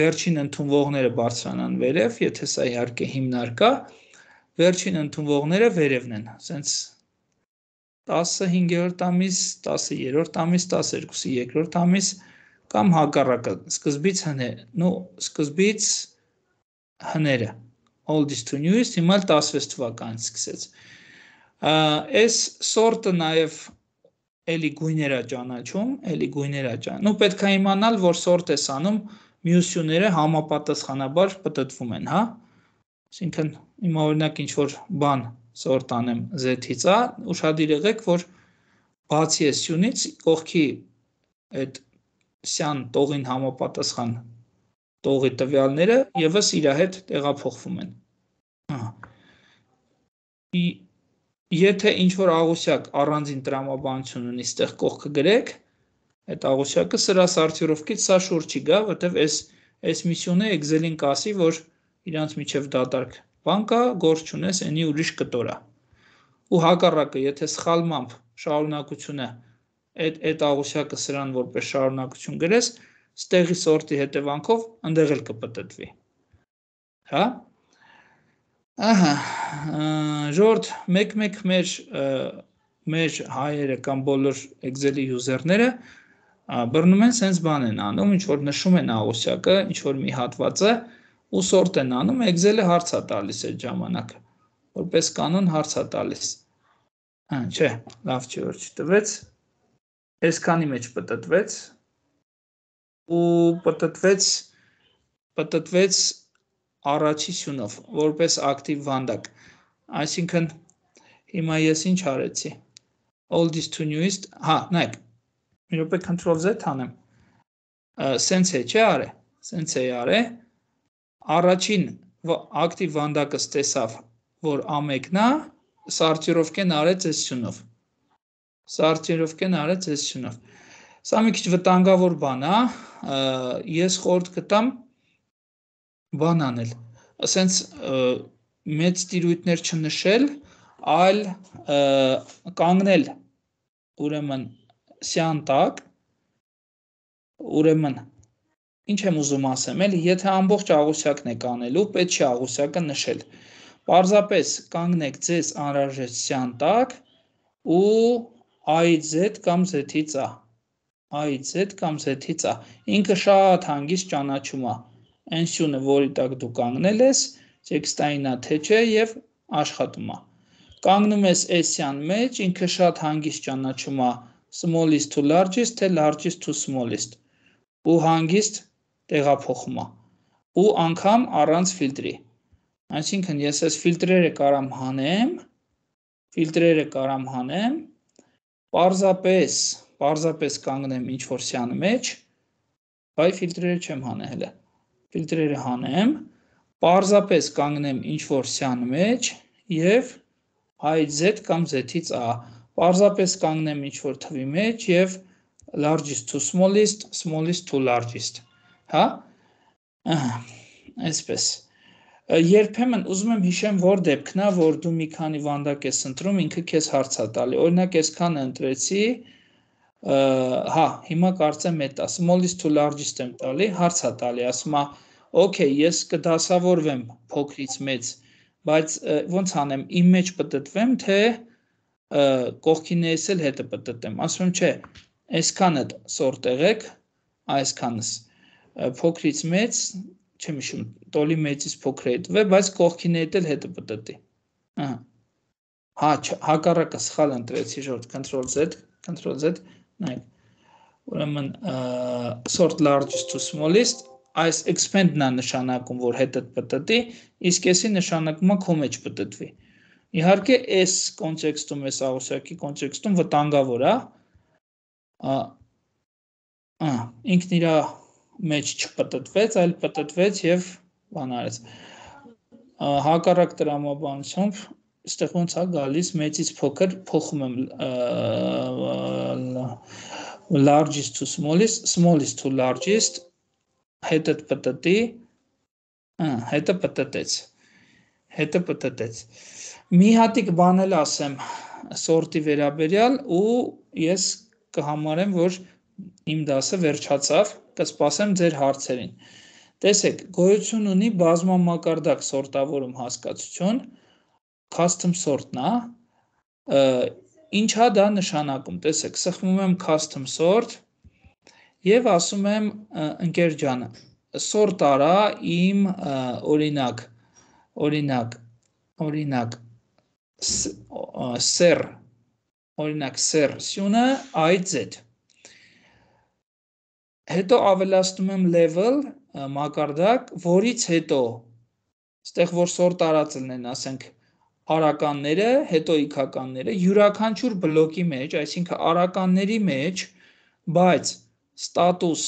վերջին ընդունվողները բարձրանան վերև, եթե սա իհարկե հիմնարկա, վերջին ընդունվողները վերևն են, սենց տասը հինգերորդ ամիս, տասը երրորդ ամիս, տասներկուսը երկրորդ ամիս կամ հակառակը, սկզբից հներ, նու սկզբից հները, oldest to newest, հիմա տասվեց թվականից սկսեց։ Այս սորտը նաև էլի գույներ է ճանաչում, էլի գույներ է ճանաչում, նու պետք է իմանալ, որ սորտ ես անում, մյուս սյուները համապատասխանաբար պտտվում են, հա, այսինքն հիմա օրինակ ինչ-որ բան սորտ անեմ Z-ից է, ուշադիր եղեք, որ բացի այս սյունից, կողքի այդ սյան տողին համապատասխան տողի տվյալները ևս իր հետ տեղափոխվում են։ Եթե ինչ-որ աղյուսակ առանձին տրամաբանություն ունի, ստեղ կողքը գրեք, այդ աղյուսակը սրա սարթյուրովքից սա շուրջ չի գա, որտև այս միսյոնը Excel-ին կասի, որ իրանց միջև դատարկ բան կա, գործ չունես, ենի ուրիշ կտոր է։ Ու հակառակը, եթե սխալմամբ շարունակությունը այդ աղյուսակը սրան որպես շարունակություն գրես, ստեղի սորտի հետևանքով ընդեղ էլ կպտտվի։ Հա։ Ահա, ժորդ մեկ-մեկ մեր մեր հայերը կամ բոլոր Excel-ի յուզերները բռնում են սենց բան են անում, ինչ որ նշում են աղյուսակը, ինչ որ մի հատվածը ու սորտ են անում, Excel-ը հարց է տալիս այդ ժամանակ, որպես կանոն հարց է տալիս։ Հա, չէ, լավ չի որ չտվեց, այսքանի մեջ պտտվեց ու պտտվեց պտտվեց առաջի սյունով, որպես ակտիվ վանդակ, այսինքն Հիմա ես ինչ արեցի։ Oldest to newest, հա, նայեք։ Մի րոպե control Z անեմ։ Սենց է, չէ՞ արե։ Սենց է արե։ Առաջին ակտիվ վանդակը ստեսավ, որ ամեկն է, սարտիրովկեն արեց այս շնով։ Սարտիրովկեն արեց այս շնով։ Սա մի քիչ վտանգավոր բան է, ես խորհուրդ կտամ բան անել։ Ասենց մեծ տիրույթներ չնշել, այլ կանգնել ուրեմն սյան տակ, ուրեմն ինչ եմ ուզում ասեմ, էլի, եթե ամբողջ աղյուսակն եք անելու, պետք չի աղյուսակը նշել։ Պարզապես կանգնեք ձեզ անհրաժեշտ սյան տակ ու I-ից Z կամ Z-ից A, I-ից Z կամ Z-ից A։ Ինքը շատ հանգիստ ճանաչում է այն սյունը, որի տակ դու կանգնել ես, տեքստային է թե չէ եւ աշխատում է։ Կանգնում ես S-յան մեջ, ինքը շատ հանգիստ ճանաչում է smallest to largest, թե largest to smallest, ու հանգիստ տեղափոխում է, ու անգամ առանց ֆիլտրի։ Այսինքն ես այս ֆիլտրերը կարամ հանեմ, ֆիլտրերը կարամ հանեմ, պարզապես, պարզապես կանգնեմ ինչ-որ սյան մեջ, բայ ֆիլտրերը չեմ հանե հելը, ֆիլտրերը հանեմ, պարզապես կանգնեմ ինչ-որ սյան մեջ և I-ից Z կամ Z-ից A, պարզապես կանգնեմ ինչ-որ թվի մեջ և largest to smallest, smallest to largest, հա, այսպես, երբեմն ուզում եմ հիշեմ, որ դեպքն է, որ դու մի քանի վանդակ ես ընտրում, ինքը քեզ հարց է տալի, օրինակ այսքան ընտրեցի, հա, հիմա կարծեմ էդ է, smallest to largest եմ տալի, հարց է տալի, ասում է, okay, ես կդասավորվեմ փոքրից մեծ, բայց ոնց անեմ, իմ մեջ պտտվեմ, թե կողքիններս էլ հետը պտտեմ, ասում եմ, չէ, այսքանը սորտ եղեք, այսքանս, փոքրից մեծ, չեմ հիշում, տոլի մեծից փոքր է հետվե, բայց կողքիններդ էլ հետը պտտի, հա, հակառակը սխալ ընտրեցի, ժորդ, control Z, control Z, նայք, ուրեմն, sort largest to smallest, այս expand-ն է նշանակում, որ հետըտ պտտի, իսկ եսի նշանակում է քո մեջ պտտվի։ Իհարկե, այս կոնտեքստում, այս աղյուսակի կոնտեքստում վտանգավոր է, ինքն իր մեջ չպտտվեց, այլ պտտվեց և բան արեց։ Հակառակ տրամաբանությամբ, այստեղ ոնց է գալիս, մեծից փոքր փոխում եմ largest to smallest, smallest to largest, հետըտ պտտի, հետը պտտեց, հետը պտտեց։ Մի հատիկ բան էլ ասեմ սորտի վերաբերյալ ու ես կհամարեմ, որ իմ դասը վերջացավ, կսպասեմ ձեր հարցերին։ Տեսեք, գոյություն ունի բազմամակարդակ սորտավորում հասկացություն, custom sort-ն է, ինչա դա նշանակում, տեսեք, սխմում եմ custom sort և ասում եմ ընկեր ջանը, սորտ արա իմ օրինակ, օրինակ, օրինակ, սեր, օրինակ սեր սյունը I-ից Z, հետո ավելացնում եմ level մակարդակ, որից հետո, ստեղ որ սորտ արած լնեն, ասենք, արականները, հետո իքականները, յուրաքանչյուր բլոկի մեջ, այսինքն արականների մեջ, բայց ստատուս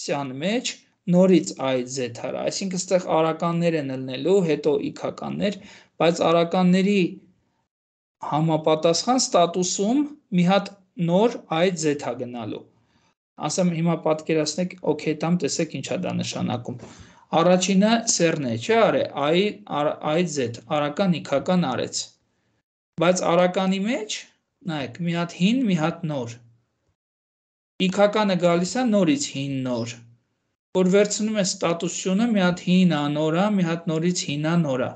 սյան մեջ, նորից I-ից Z հարա, այսինքն ստեղ արականներ են լնելու, հետո իքականներ, բայց արականների համապատասխան ստատուսում մի հատ նոր I-ից Z հա գնալու։ Ասեմ հիմա պատկերացնեք, օքեյ տամ, տեսեք ինչ է դա նշանակում։ Առաջինը սերն է, չէ արե, I-ից Z, արական իքական արեց։ Բայց արականի մեջ, նայեք, մի հատ հին, մի հատ նոր։ Իքականը գալիս է նորից հին նոր, որ վերցնում է ստատուսյունը, մի հատ հին անորա, մի հատ նորից հինա նորա,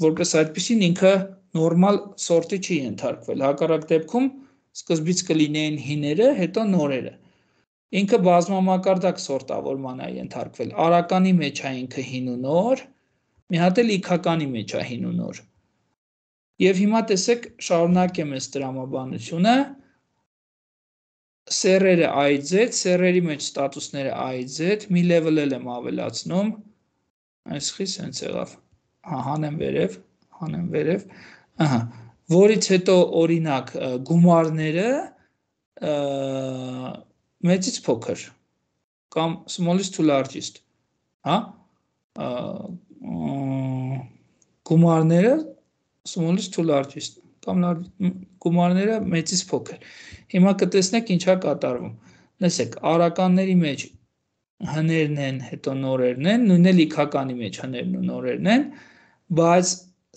որպես այդպիսին ինքը նորմալ սորտի չի ենթարկվել, հակառակ դեպքում սկզբից կլինեին հիները, հետո նորերը, ինքը բազմամակարդակ սորտավորման է ենթարկվել, արականի մեջ է ինքը հին ու նոր, մի հատ էլ իքականի մեջ է հին ու նոր, և հիմա տեսեք շարունակեմ այս տրամաբանությունը, սերերը I-ից Z, սերերի մեջ ստատուսները I-ից Z, մի level էլ եմ ավելացնում, այսխի սենց եղավ, հա, հանեմ վերև, հանեմ վերև, ահա, որից հետո օրինակ գումարները մեծից փոքր կամ smallest to largest, հա, գումարները smallest to largest կամ գումարները մեծից փոքր։ Հիմա կտեսնեք ինչա կատարվում։ Լսեք, արականների մեջ հներն են, հետո նորերն են, նույնն էլ իքականի մեջ հներն ու նորերն են, բայց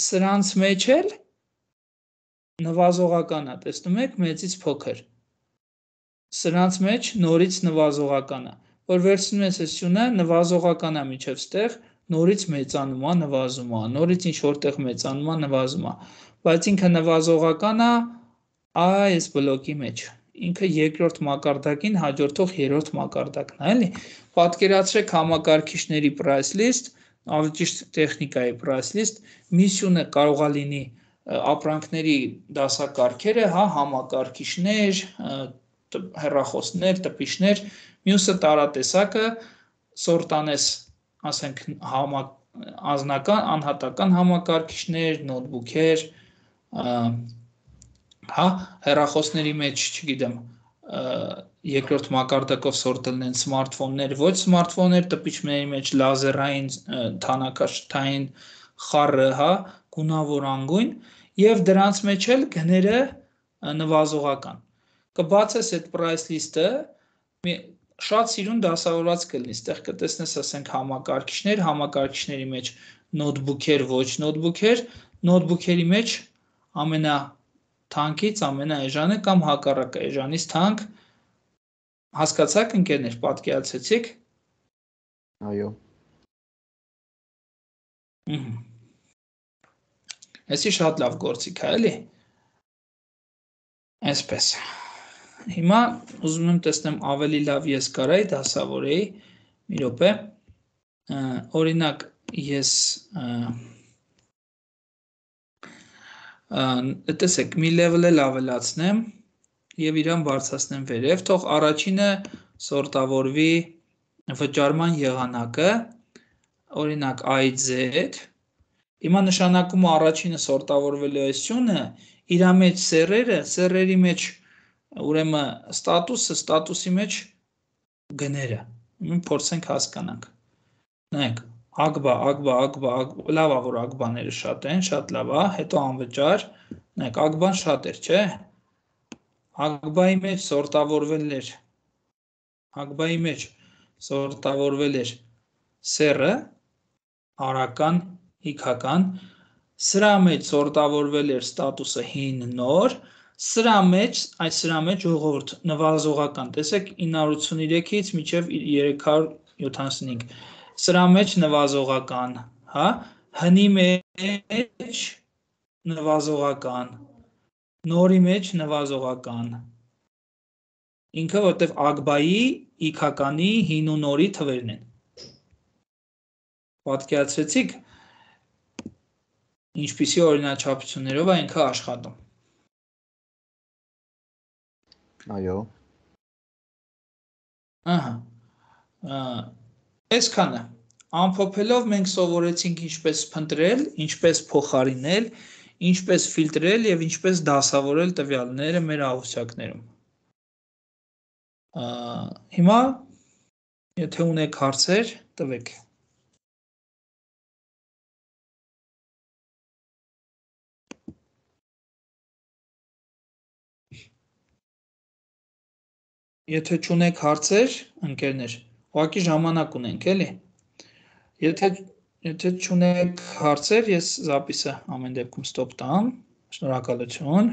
սրանց մեջ էլ նվազողական է, տեսնում եք, մեծից փոքր։ Սրանց մեջ նորից նվազողական է, որ վերցնում ես այս սյունը, նվազողական է միջև ստեղ, նորից մեծանում է, նվազում է, նորից ինչ որտեղ մեծանում է, նվազում է, բայց ինքը նվազողական է այս բլոկի մեջ։ Ինքը երկրորդ մակարդակին հաջորդող երրորդ մակարդակն է, էլի։ Պատկերացրեք համակարգիչների price list, ավելի ճիշտ տեխնիկայի price list, մի սյունը կարող է լինի ապրանքների դասակարգերը, հա, համակարգիչներ, հեռախոսներ, տպիչներ, մյուսը տարատեսակը, սորտանես, ասենք, անձնական, անհատական համակարգիչներ, նոթբուքեր, հա, հեռախոսների մեջ, չգիտեմ, երկրորդ մակարդակով սորտելն են սմարթֆոններ, ոչ սմարթֆոններ, տպիչների մեջ լազերային, թանաքաշթային խառը, հա, գունավոր անգույն, եւ դրանց մեջ էլ գները նվազողական։ Կբացես այդ price list-ը, շատ սիրուն դասավորված կլինի, ստեղ կտեսնես, ասենք, համակարգիչներ, համակարգիչների մեջ նոթբուքեր, ոչ նոթբուքեր, նոթբուքերի մեջ ամենա թանկից ամենաէժանը կամ հակառակը էժանից թանկ, հասկացաք ընկերներ, պատկերացրեցիք։ Այո։ Էսի շատ լավ գործիք է, էլի։ Այսպես։ Հիմա ուզում եմ տեսնեմ ավելի լավ ես կարայի դասավորեի, մի րոպե, օրինակ ես տեսեք, մի level էլ ավելացնեմ եւ իրան բարձրացնեմ վերև, թող առաջինը սորտավորվի վճարման եղանակը, օրինակ I Z, հիմա նշանակում է առաջինը սորտավորվելու է սյունը, իր մեջ սեռերը, սեռերի մեջ ուրեմն ստատուսը, ստատուսի մեջ գները, փորձենք հասկանանք, նայեք, ագբա, ագբա, ագբա, լավ է, որ ագբաները շատ են, շատ լավ է, հետո անվճար, նայեք, ագբան շատ էր, չէ, ագբայի մեջ սորտավորվել էր, ագբայի մեջ սորտավորվել էր սեռը, արական, իքական, սրա մեջ սորտավորվել էր ստատուսը հին նոր, սրա մեջ, այս սրա մեջ ժողովուրդ նվազողական, տեսեք ինը հարյուր ութսուներեքից մինչև երեք հարյուր յոթանասունհինգ, սրա մեջ նվազողական, հա, հնի մեջ նվազողական, նորի մեջ նվազողական, ինքը որտև ագբայի, իքականի, հին ու նորի թվերն են, պատկերացրեցիք, ինչպիսի օրինաչափություններով է ինքը աշխատում։ Այո։ Ահա, այսքանը, ամփոփելով մենք սովորեցինք ինչպես փնտրել, ինչպես փոխարինել, ինչպես ֆիլտրել և ինչպես դասավորել տվյալները մեր ահուսակներում։ Հիմա, եթե ունեք հարցեր, տվեք։ Եթե չունեք հարցեր, ընկերներ, ուղղակի ժամանակ ունենք, էլի։ Եթե եթե չունեք հարցեր, ես զապիսը ամեն դեպքում ստոպ տամ։ Շնորհակալություն։